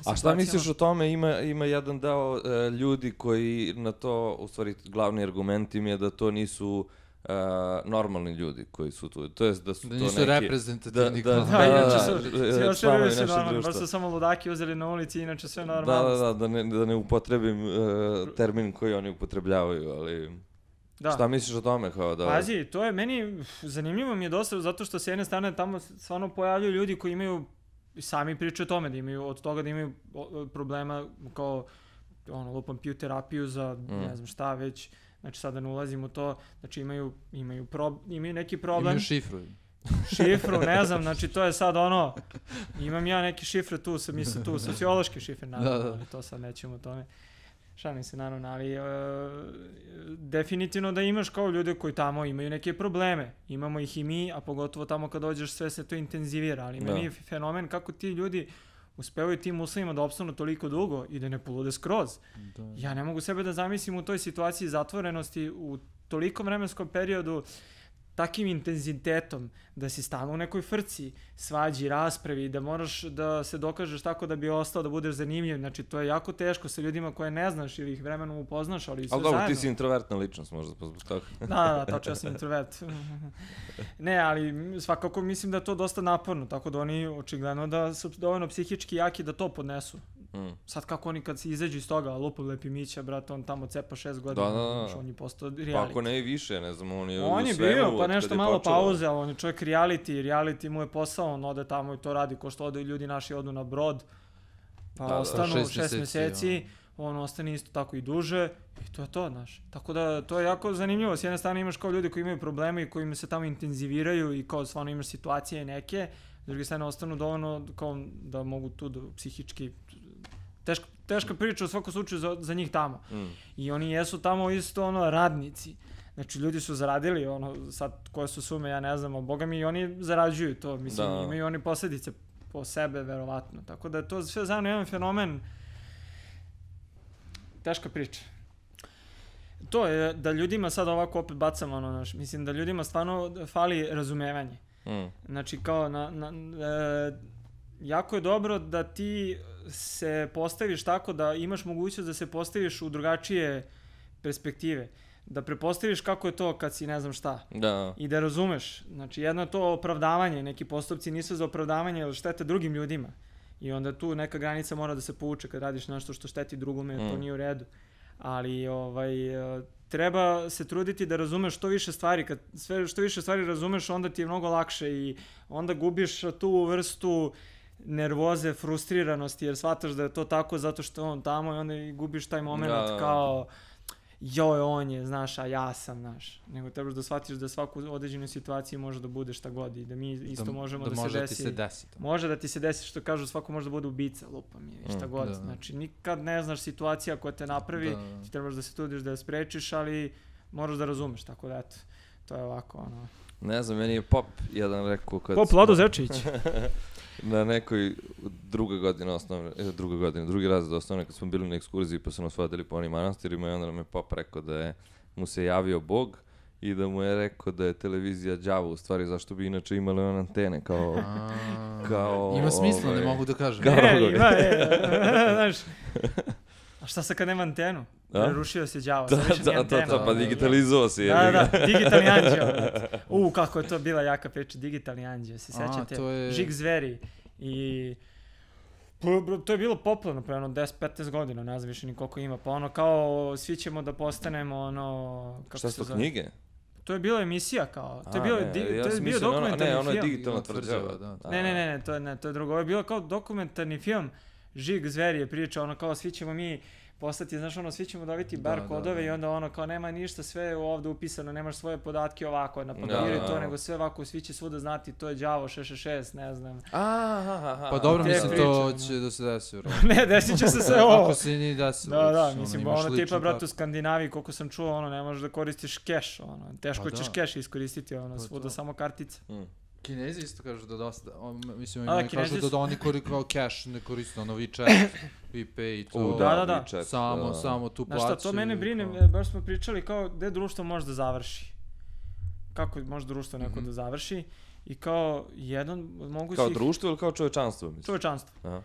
A šta misliš o tome? Ima jedan deo ljudi koji na to, u stvari glavni argument im je da to nisu normalni ljudi koji su tu, to jest da su to neki... Da nisu reprezentativni. Inače su normalni, baš su samo ludaki uzeli na ulici, inače sve normalno. Da ne upotrebim termin koji oni upotrebljavaju, ali... Šta misliš o tome? Pazi, to je meni, zanimljivo mi je dosta, zato što s jedne strane tamo stvarno pojavljaju ljudi koji imaju, sami pričaju o tome, da imaju od toga da imaju problema kao, lupam, piju terapiju za ne znam šta već. Znači sada ne ulazim u to, znači imaju neki problem. Imaju šifru. Šifru, ne znam, znači to je sad imam ja neke šifre tu, mislim tu sociološke šifre, naravno, ali to sad nećemo o tome. Šalim se naravno, ali definitivno da imaš kao ljude koji tamo imaju neke probleme. Imamo ih i mi, a pogotovo tamo kad dođeš sve se to intenzivira, ali meni je fenomen kako ti ljudi uspevaju tim uslovima da opstanu toliko dugo i da ne polude skroz. Ja ne mogu sebe da zamislim u toj situaciji zatvorenosti u tolikom vremenskom periodu takim intenzitetom da si stalno u nekoj frci, svađi, raspravi, da moraš da se dokažeš tako da bi ostao, da budeš zanimljiv. Znači, to je jako teško sa ljudima koje ne znaš ili ih vremenom upoznaš, ali sve zajedno. Ali dobro, ti si introvertna ličnost možda zbog toga. Da, tačno, ja sam introvert. Ne, ali svakako mislim da je to dosta naporno, tako da oni očigledno da su dovoljno psihički jaki da to podnesu. Sad kako oni kad se izađu iz toga, lupa Lepi Mića, brate, on tamo cepa 6 godina, on je postao reality. Pa ako ne i više, ne znam, on je u svemu. On je bio, pa nešto malo pauze, ali on je čovjek reality mu je posao, on ode tamo i to radi, ko što ode ljudi naši odu na brod, pa ostanu 6 mjeseci, on ostane isto tako i duže i to je to, znaš. Tako da to je jako zanimljivo. S jedne strane imaš kao ljudi koji imaju probleme i koji se tamo intenziviraju i kao stvarno imaš situacije neke, s druge strane ostanu dovoljno kao da mogu tu da psihički teška priča u svakom slučaju za njih tamo. I oni jesu tamo isto radnici. Znači ljudi su zaradili sad koje su sume, ja ne znam, a boga mi i oni zarađuju to, mislim, imaju oni posljedice po sebe, verovatno. Tako da je to sve zajedno jedan fenomen, teška priča. To je da ljudima sad ovako opet bacamo, mislim da ljudima stvarno fali razumevanje. Znači kao jako je dobro da ti se postaviš tako da imaš mogućnost da se postaviš u drugačije perspektive. Da prepostaviš kako je to kad si ne znam šta. I da razumeš. Znači jedno je to opravdavanje, neki postupci nisu za opravdavanje ili štete drugim ljudima. I onda tu neka granica mora da se povuče kad radiš nešto što šteti drugome, to nije u redu. Ali treba se truditi da razumeš što više stvari. Kad što više stvari razumeš, onda ti je mnogo lakše i onda gubiš tu vrstu nervoze, frustriranosti, jer shvataš da je to tako zato što je on tamo i onda gubiš taj moment kao joj, on je, znaš, a ja sam, znaš. Nego trebaš da shvatiš da svaku određenu situaciju može da bude šta god i da mi isto možemo da se desi. Može da ti se desi. Može da ti se desi, što kažu, svako može da bude ubica, lupa mi je, šta god. Znači, nikad ne znaš situacija koja te napravi, ti trebaš da se trudiš da je sprečiš, ali moraš da razumeš, tako da eto, to je ovako, Ne znam, meni je Pop jedan rekao kad... Pop Lado Zečević. Na nekoj drugi razred osnovne, kad smo bili na ekskurziji pa su nas vodili po onim manastirima i onda nam je Pop rekao da mu se javio Bog i da mu je rekao da je televizija đavo, u stvari zašto bi inače imali one antene kao... Ima smisla, ne mogu da kažem. Ima, znaš, a šta sad kad nema antenu? Prerušio se đavo, sad više nije antena. Pa digitalizovao se. Da, digitalni anđeo. Kako je to bila jaka priča, digitalni anđeo, se sećate? Žig zveri. I to je bilo popularno pre 10-15 godina, ne znam više ni koliko ima. Pa kao svi ćemo da postanemo Šta su to knjige? To je bila emisija kao, to je bio dokumentarni film. Ne, ono je digitalna tvrđava. Ne, to je drugo. Ovo je bilo kao dokumentarni film, Žig zveri je priča, kao svi ćemo mi postati, znaš, svi ćemo dobiti bar kodove i onda kao nema ništa, sve je ovdje upisano, nemaš svoje podatke ovako na papiru i to, nego sve ovako, svi će svuda znati, to je đavo 666, ne znam. Pa dobro, mislim, to će da se desi. Ne, desit će se sve ovo. Ako se nije desilo. Da, mislim, tipa, brate, u Skandinaviji, koliko sam čuo, ne možeš da koristiš keš, teško ćeš keš iskoristiti, svuda samo kartice. Kinezi isto kažu da dosta, mislim, oni kažu da oni kao cash ne koriste, WeChat, WePay i to. Da. Samo tu plaću. Znaš šta, to mene brine, baš smo pričali kao gde društvo može da završi. Kako može društvo neko da završi i kao jedan mogu kao društvo ili kao čovečanstvo? Mislim? Čovečanstvo.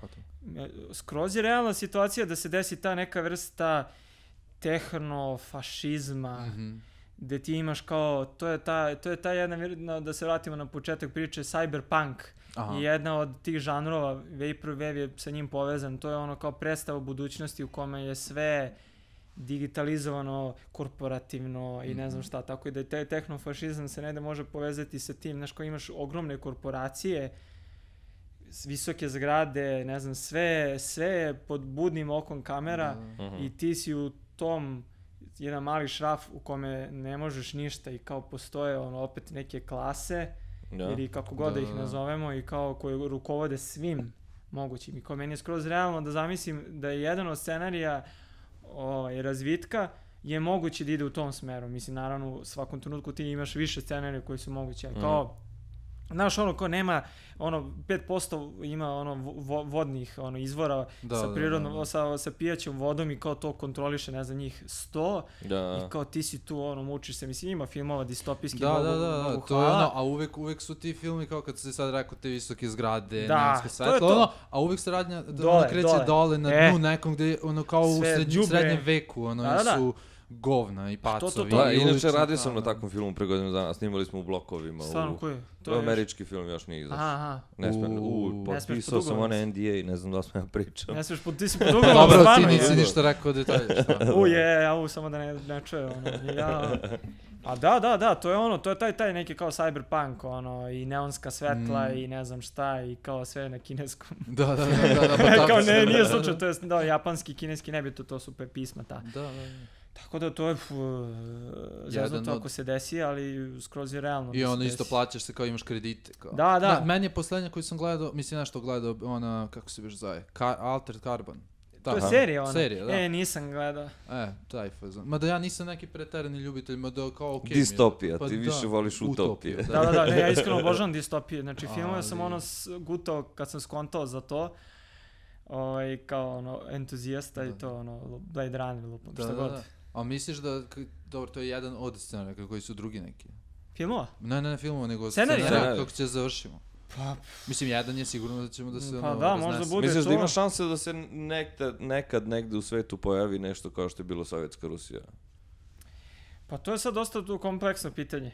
Skroz je realna situacija da se desi ta neka vrsta tehnofašizma, gde ti imaš kao, to je ta jedna, da se vratimo na početak priče, cyberpunk je jedna od tih žanrova, Vaporwave je sa njim povezan, to je kao predstava budućnosti u kome je sve digitalizovano, korporativno i ne znam šta, tako i da taj tehnofašizam se negde može povezati sa tim, znaš, kao imaš ogromne korporacije, visoke zgrade, ne znam, sve je pod budnim okom kamera i ti si u tom jedan mali šraf u kome ne možeš ništa i kao postoje opet neke klase ili kako god da ih nazovemo i kao koje rukovode svim mogućim. I kao meni je skroz realno da zamislim da je jedan od scenarija razvitka je moguće da ide u tom smeru. Mislim, naravno, u svakom trenutku ti imaš više scenarija koji su mogući, ali kao znaš, ko nema, 5% ima vodnih izvora sa prirodnom, sa pijaćom vodom i kao to kontroliše, ne znam, njih 100 i kao ti si tu, mučiš se, mislim, ima filmova distopijski, mogu to je a uvek su ti filmi kao kad se sad rekao te visoke zgrade, neonsko svetlo, a uvek se radnja kreće dole na dnu nekom gde, kao u srednjem veku, su govna i pacovi. Da, inače radio sam na takvom filmu pre godinu dana, snimali smo u blokovima. Stvarno, koji? To je američki film, još nije izašao. Aha. Potpisao sam one NDA i ne znam da smo ja pričao. Ne smiješ, ti si pod ugovorom. Dobro, ti nisi ništa rekao detalje. Samo da ne čuje, A da, to je ono, to je taj neki kao cyberpunk, ono, i neonska svetla i ne znam šta, i kao sve na kineskom. Da. Kao nije slučaj, to je japanski, kineski, nebitno, to su pisma ta. Da. Tako da to je zeznuto ako se desi, ali skroz je realno. I ono isto plaćaš se kao imaš kredite. Kao. Da. Meni je poslednja koju sam gledao, mislim nešto gledao, ona, kako se biš zove, Altered Carbon. To je serija ona? Serija, da. Nisam gledao. Taj fazon. Mada ja nisam neki preterani ljubitelj, mada kao okej. Distopija, ti više voliš utopije. Da, ja iskreno obožavam distopije. Znači, filmove sam gutao kad sam skontao za to. Kao ono, entuzijasta i to, ono, Blade Runner, lupam, šta god. A misliš da, dobro, to je jedan od scenarija, koji su drugi neki? Filmova? Ne filmova, nego scenarija kako će završimo. Mislim, jedan je sigurno da ćemo da se... Pa da, možda bude to. Misliš da ima šanse da se nekad negde u svetu pojavi nešto kao što je bilo Sovjetska Rusija? Pa to je sad dosta kompleksno pitanje.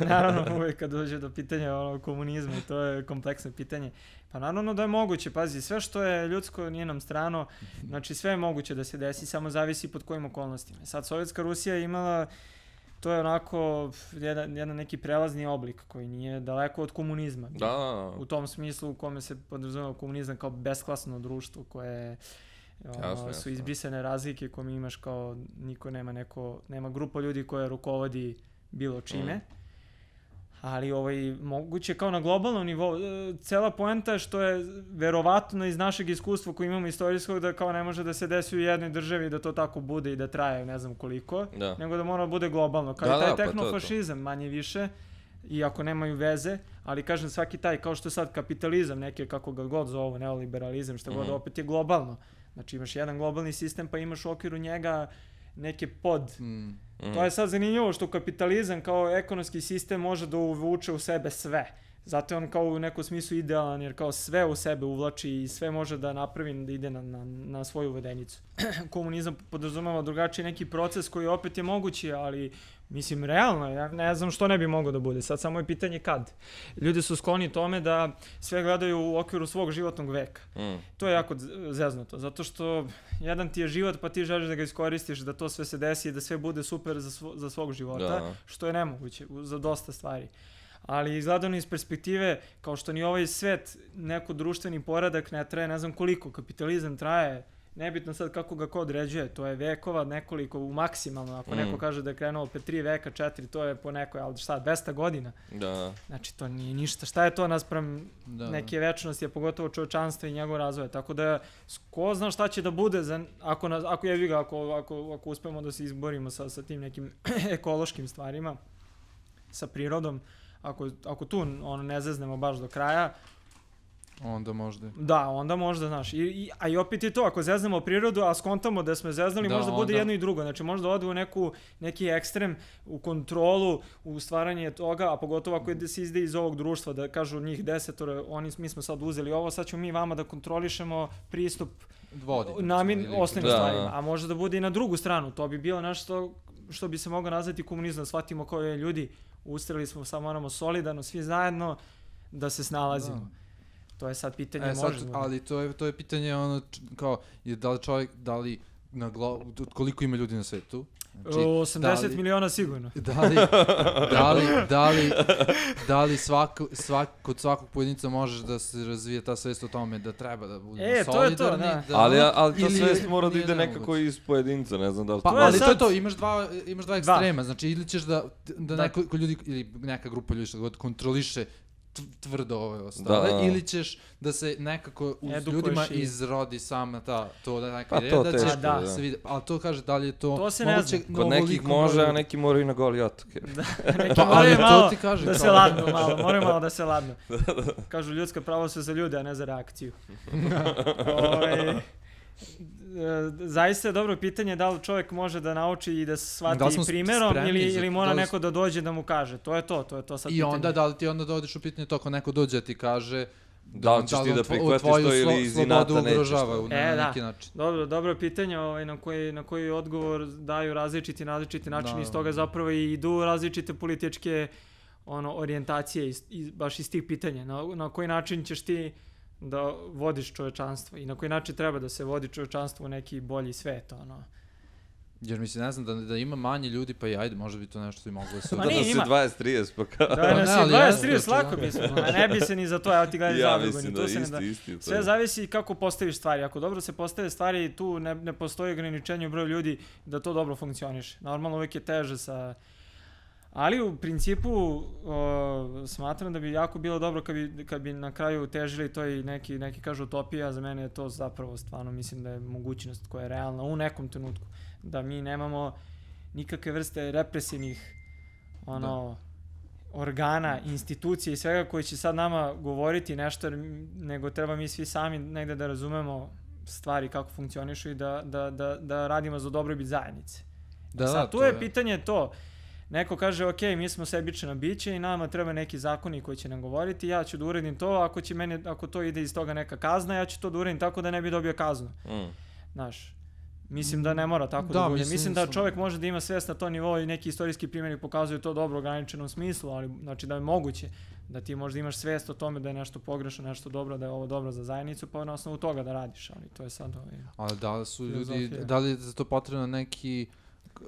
Naravno, uvijek kad dođe do pitanja komunizma, to je kompleksno pitanje. Pa naravno da je moguće, pazi, sve što je ljudsko nije nam strano, znači sve je moguće da se desi, samo zavisi pod kojim okolnostima. Sad, Sovjetska Rusija je imala, to je onako jedan neki prelazni oblik koji nije daleko od komunizma. Da. U tom smislu u kome se podrazumeva komunizam kao besklasno društvo koje su izbrisane razlike koje mi imaš kao niko nema grupa ljudi koja rukovodi bilo čime. Ali moguće kao na globalnom nivou, cela poenta je što je verovatno iz našeg iskustva koji imamo istorijskog da kao ne može da se desi u jednoj državi da to tako bude i da traje ne znam koliko, nego da mora da bude globalno. Kao i taj tehnofašizam manje više, iako nemaju veze, ali kažem svaki taj, kao što je sad kapitalizam, neke kako ga god zovu, neoliberalizam, što god, opet je globalno. Znači imaš jedan globalni sistem pa imaš u okviru njega neke To je sad zanimljivo što kapitalizam kao ekonomski sistem može da uvuče u sebe sve. Zato je on kao u nekom smislu idealan jer kao sve u sebe uvlači i sve može da napravi da ide na svoju vodenicu. Komunizam podrazumeva drugačiji neki proces koji opet je mogući, ali mislim realno, ja ne znam što ne bi moglo da bude. Sad samo je pitanje kad. Ljudi su skloni tome da sve gledaju u okviru svog životnog veka. To je jako zeznuto, zato što jedan ti je život pa ti želiš da ga iskoristiš, da to sve se desi i da sve bude super za svog života, što je nemoguće za dosta stvari. Ali izgledano iz perspektive, kao što ni ovaj svet, neko društveni poredak ne traje, ne znam koliko, kapitalizam traje, nebitno sad kako ga ko određuje, to je vekova nekoliko, maksimalno, ako neko kaže da je krenuo pe 3 veka, 4, to je po nekoj, ali šta, 200 godina? Da. Znači, to nije ništa, šta je to naspram neke večnosti, a pogotovo čovečanstva i njegov razvoja, tako da ko zna šta će da bude, ako uspemo da se izborimo sa tim nekim ekološkim stvarima, sa prirodom, ako tu ne zeznemo baš do kraja, onda možda. Da, onda možda, znaš. A i opet je to, ako zeznemo prirodu, a skontamo da smo zeznali, možda bude jedno i drugo. Znači, možda ode u neki ekstrem, u kontrolu, u stvaranje toga, a pogotovo ako se izde iz ovog društva, da kažu njih 10, mi smo sad uzeli ovo, sad ćemo mi vama da kontrolišemo pristup osnovnim stvarima. A može da bude i na drugu stranu. To bi bilo nešto što bi se moglo nazvati komunizam. Shvatimo kao je ljudi, ustrali smo, samo moramo solidarno, svi zajedno da se snalazimo. To je sad pitanje možemo. Ali to je pitanje kao, koliko ima ljudi na svetu? 80 miliona sigurno. Da li kod svakog pojedinca možeš da se razvije ta svest o tome da treba da budemo solidarni? Ali ta svest mora da ide nekako iz pojedinca, ne znam da li to... Ali to je to, imaš dva ekstrema, znači ili ćeš da neko ljudi, ili neka grupa ljudi što god kontroliše tvrdo ove ostale, ili ćeš da se nekako u ljudima izrodi sama to da neka ideja da će se vidi, ali to kaže da li je to moguće. Kod nekih može, a neki moraju na goli otok. Neki moraju malo da se ladnu, moraju malo da se ladnu. Kažu ljudska prava su za ljude, a ne za reakciju. Zaista je dobro pitanje da li čovjek može da nauči i da se shvati primjerom ili mora neko da dođe da mu kaže. To je to sad pitanje. I onda da li ti onda dođeš u pitanje to ako neko dođe ti kaže Da li ćeš ti da prihvatiš to ili iz inata nećeš to? Na neki način. Dobro pitanje na koji odgovor daju različiti način, iz toga zapravo i idu različite političke orijentacije baš iz tih pitanja. Na koji način ćeš ti da vodiš čovečanstvo i na koji način treba da se vodi čovečanstvo u neki bolji svet, Jer mislim, ne znam, da ima manje ljudi, pa i ajde, možda bi to nešto i moglo da se... Da nas je 20-30 pokazao. Da nas je 20-30 lako mislim, ne bi se ni za to, evo ti gledaj zadrugu. Ja mislim da isti. Sve zavisi kako postaviš stvari, ako dobro se postave stvari, tu ne postoji ograničenje u broju ljudi da to dobro funkcioniše. Normalno uvijek je teže Ali u principu smatram da bi jako bilo dobro kad bi na kraju težili to i neki kažu utopija, za mene je to zapravo stvarno mislim da je mogućnost koja je realna u nekom trenutku. Da mi nemamo nikakve vrste represivnih organa, institucije i svega koji će sad nama govoriti nešto, nego treba mi svi sami negde da razumemo stvari kako funkcionišu i da radimo za dobrobit zajednice. Sad tu je pitanje to. Neko kaže, ok, mi smo sebična biće i nama treba neki zakoni koji će nam govoriti, ja ću da uradim to, ako to ide iz toga neka kazna, ja ću to da uradim tako da ne bi dobio kaznu. Znaš, mislim da ne mora tako da bude. Mislim da čovjek može da ima svest na to nivo i neki istorijski primjeri pokazuju to dobro u ograničenom smislu, ali znači da je moguće da ti možda imaš svest o tome da je nešto pogrešno, nešto dobro, da je ovo dobro za zajednicu, pa na osnovu toga da radiš, ali to je sad Ali da li su ljudi, da li je za to potrebno neki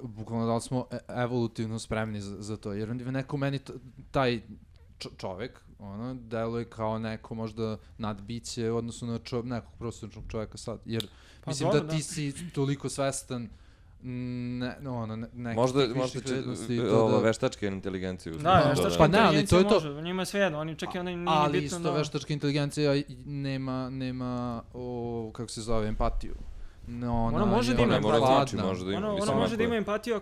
bukvalno da li smo evolutivno spremni za to, jer neko meni taj čovek, deluje kao neko možda nadbiće u odnosu na nekog prosječnog čoveka sad, jer mislim da ti si toliko svestan možda veštačka inteligencija. Da, veštačka inteligencija može, njima je sve jedno, oni čak i onda nije bitno. Ali isto veštačka inteligencija nema, kako se zove, empatiju. Ona može da ima empatiju. Ona može da ima empatiju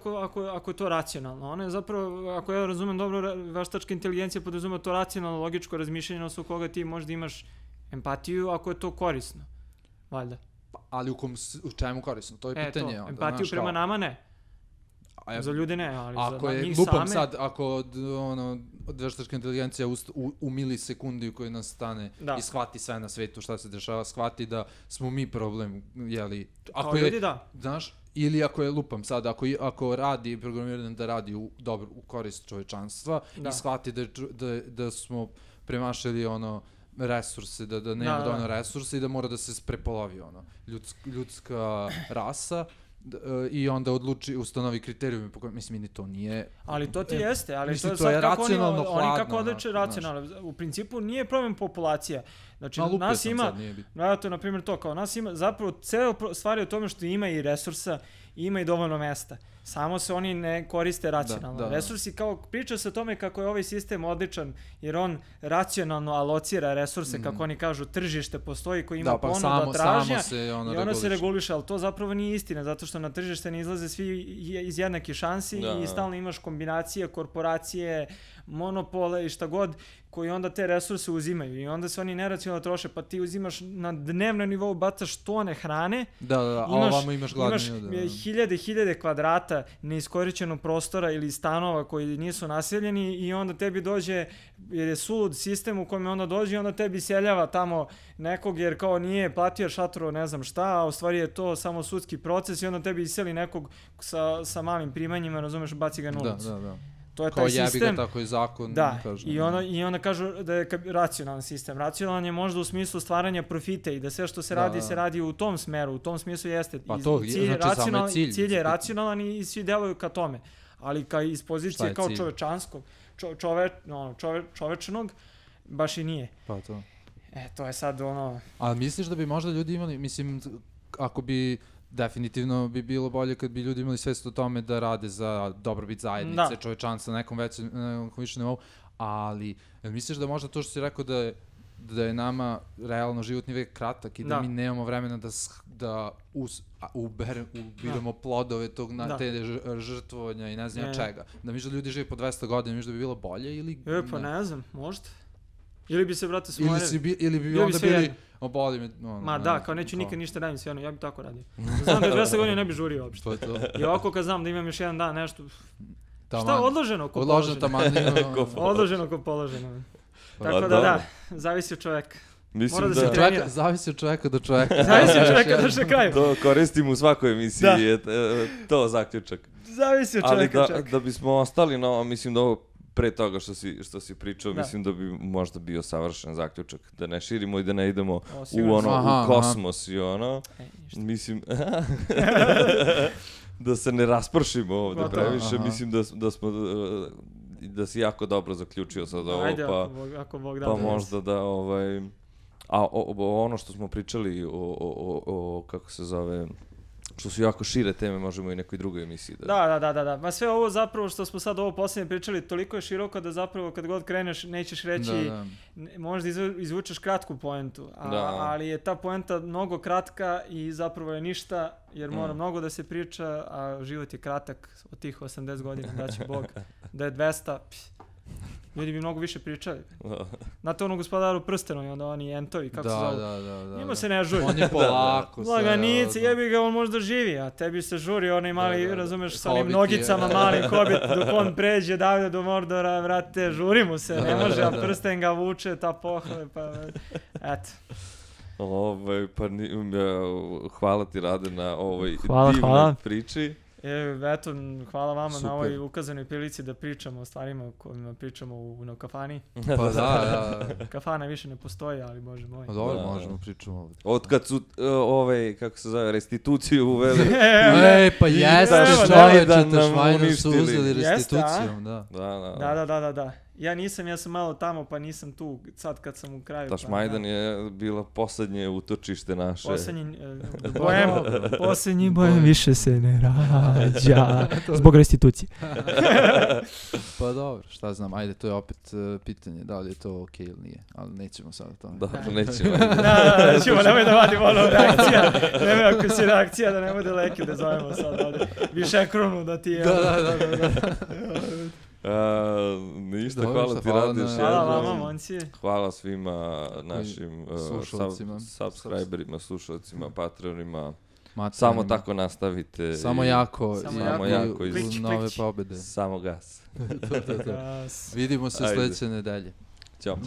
ako je to racionalno. Ona je zapravo, ako ja razumem dobro, veštačka inteligencija podrazumeva to racionalno, logičko razmišljanje na osnovu koga ti možda imaš empatiju ako je to korisno. Valjda. Ali u čemu korisno? To je pitanje. Empatiju prema nama ne. Za ljude ne, ali za njih same... Lupam sad, ako veštačka inteligencija u milisekundi u kojoj nas stane i shvati sve na svetu šta se dešava, shvati da smo mi problem, jeli... Kao ljudi da. Znaš, ili ako je, lupam sad, ako radi programiran da radi u korist čovečanstva i shvati da smo premašili resurse, da nema dovoljno resursa i da mora da se prepolovi ljudska rasa, i onda ustanovi kriterijume po kojima, mislim, ni to nije... Ali to ti jeste, ali to je sad kako oni kako odliče racionalno. U principu nije problem populacija. Znači, nas ima, to je na primjer to, kao nas ima, zapravo ceo stvar je u tome što ima i resursa, ima i dovoljno mesta. Samo se oni ne koriste racionalno. Resursi, kao priča se o tome kako je ovaj sistem odličan, jer on racionalno alocira resurse, kako oni kažu, tržište postoji koji ima ponuda tražnja i ono se reguliše, ali to zapravo nije istina, zato što na tržište ne izlaze svi iz jednake šansi i stalno imaš kombinacije, korporacije, monopole i šta god, koji onda te resurse uzimaju i onda se oni neracionalno troše, pa ti uzimaš na dnevnom nivou, bacaš tone hrane, a ovamo imaš gladnije. Imaš hiljade kvadrata neiskorišćenog prostora ili stanova koji nisu naseljeni i onda tebi dođe, jer je sulud sistem u kojem onda dođe i onda tebi seljava tamo nekog jer kao nije platio šatro ne znam šta, a u stvari je to samo sudski proces i onda tebi iseli nekog sa malim primanjima, razumeš, baci ga na ulicu. Da. To je taj sistem. Kao jebi ga, tako je zakon. Da, i onda kažu da je racionalan sistem. Racionalan je možda u smislu stvaranja profita i da sve što se radi, se radi u tom smeru, u tom smislu jeste. Pa to, znači cilj je racionalan i svi deluju ka tome. Ali iz pozicije kao čovečanskog, čovečnog, baš i nije. Pa to. To je sad Ali misliš da bi možda ljudi imali, mislim, ako bi... Definitivno bi bilo bolje kad bi ljudi imali svest o tome da rade za dobrobit zajednice, čovečanstva na nekom višem nivou, ali misliš da možda to što si rekao da je nama realno životni vek kratak i da mi nemamo vremena da ubiramo plodove te žrtvovanja i ne znam čega. Da misliš da ljudi žive po 200 godina, misliš da bi bilo bolje ili... Pa ne znam, možda. Ili bi se, brate, smorili. Ili bi onda bili... Oboli me... Ma da, kao neću nikad ništa radim sve ja bi tako radio. Znam da je 200 godina ne bi žurio uopšte. I ovako kad znam da imam još jedan dan nešto... Šta, odloženo ko položeno? Odloženo ko položeno. Tako da, zavisi od čoveka. Mislim Mora da da se trenira. Zavisi od čoveka do čoveka. Zavisi od čoveka do čoveka. to koristim u svakoj emisiji, je to zaključak. Zavisi od Ali čoveka. da bismo ostali na ovo, mislim da ovo pre toga što si pričao, Da. mislim da bi možda bio savršen zaključak. Da ne širimo i da ne idemo sigurno u kosmos i ono. Mislim, da se ne raspršimo ovde Gotovo. previše, mislim da si jako dobro zaključio sad ovo, Ajde, pa, ako Bog da. pa možda da a ono što smo pričali o kako se zove, što su jako šire teme, možemo i nekoj drugoj emisiji Da. Ma sve ovo zapravo što smo sad ovo posljednje pričali, toliko je široko da zapravo kad god kreneš nećeš reći, možda izvučeš kratku poentu, ali je ta poenta mnogo kratka i zapravo je ništa, jer mora mnogo da se priča, a život je kratak od tih 80 godina, da će Bog, da je 200, ljudi bi mnogo više pričali. Znate ono Gospodaru prstenu i onda oni entovi, kako se zove? Da. Njima se ne žuri. On je polako. Laganice, jebi ga, on možda živi, a tebi se žuri onaj mali, razumeš, sa onim nogicama malim Hobbit, dok on pređe Davida do Mordora, vrate, žuri mu se, ne može, a prsten ga vuče, ta pohvala, pa eto. Pa hvala ti, Rade, na ovoj divnoj priči. Eto, hvala vama na ovoj ukazanoj prilici da pričamo o stvarima o kojima pričamo u kafani. Pa da. Kafana više ne postoji, ali bože moj. Dobro, možemo pričamo ovdje. Od kad su kako se zove, restituciju uveli. Pa jeste, Švajdan su uzeli restitucijom, da. Da. Ja sam malo tamo, pa nisam tu sad kad sam u kraju. Tašmajdan je bila poslednje utočište naše. Posljednji bojem više se ne rađa. Zbog restitucije. Pa dobro, šta znam, ajde, to je opet pitanje, da li je to okej ili nije, ali nećemo sad o tome. Dobro, nećemo. Nećemo, nemoj da vadimo ono reakcija. Nemoj ako si reakcija da ne bude leki da zovemo sad ovdje. Više krunu da ti je. Da. Ništa, hvala ti, Rade, još jednom. Hvala vama, monci. Hvala svima našim subscriberima, slušalcima, patronima. Samo tako nastavite. Samo jako i nove pobede. Samo gas. Vidimo se sljedeće nedelje. Ćao.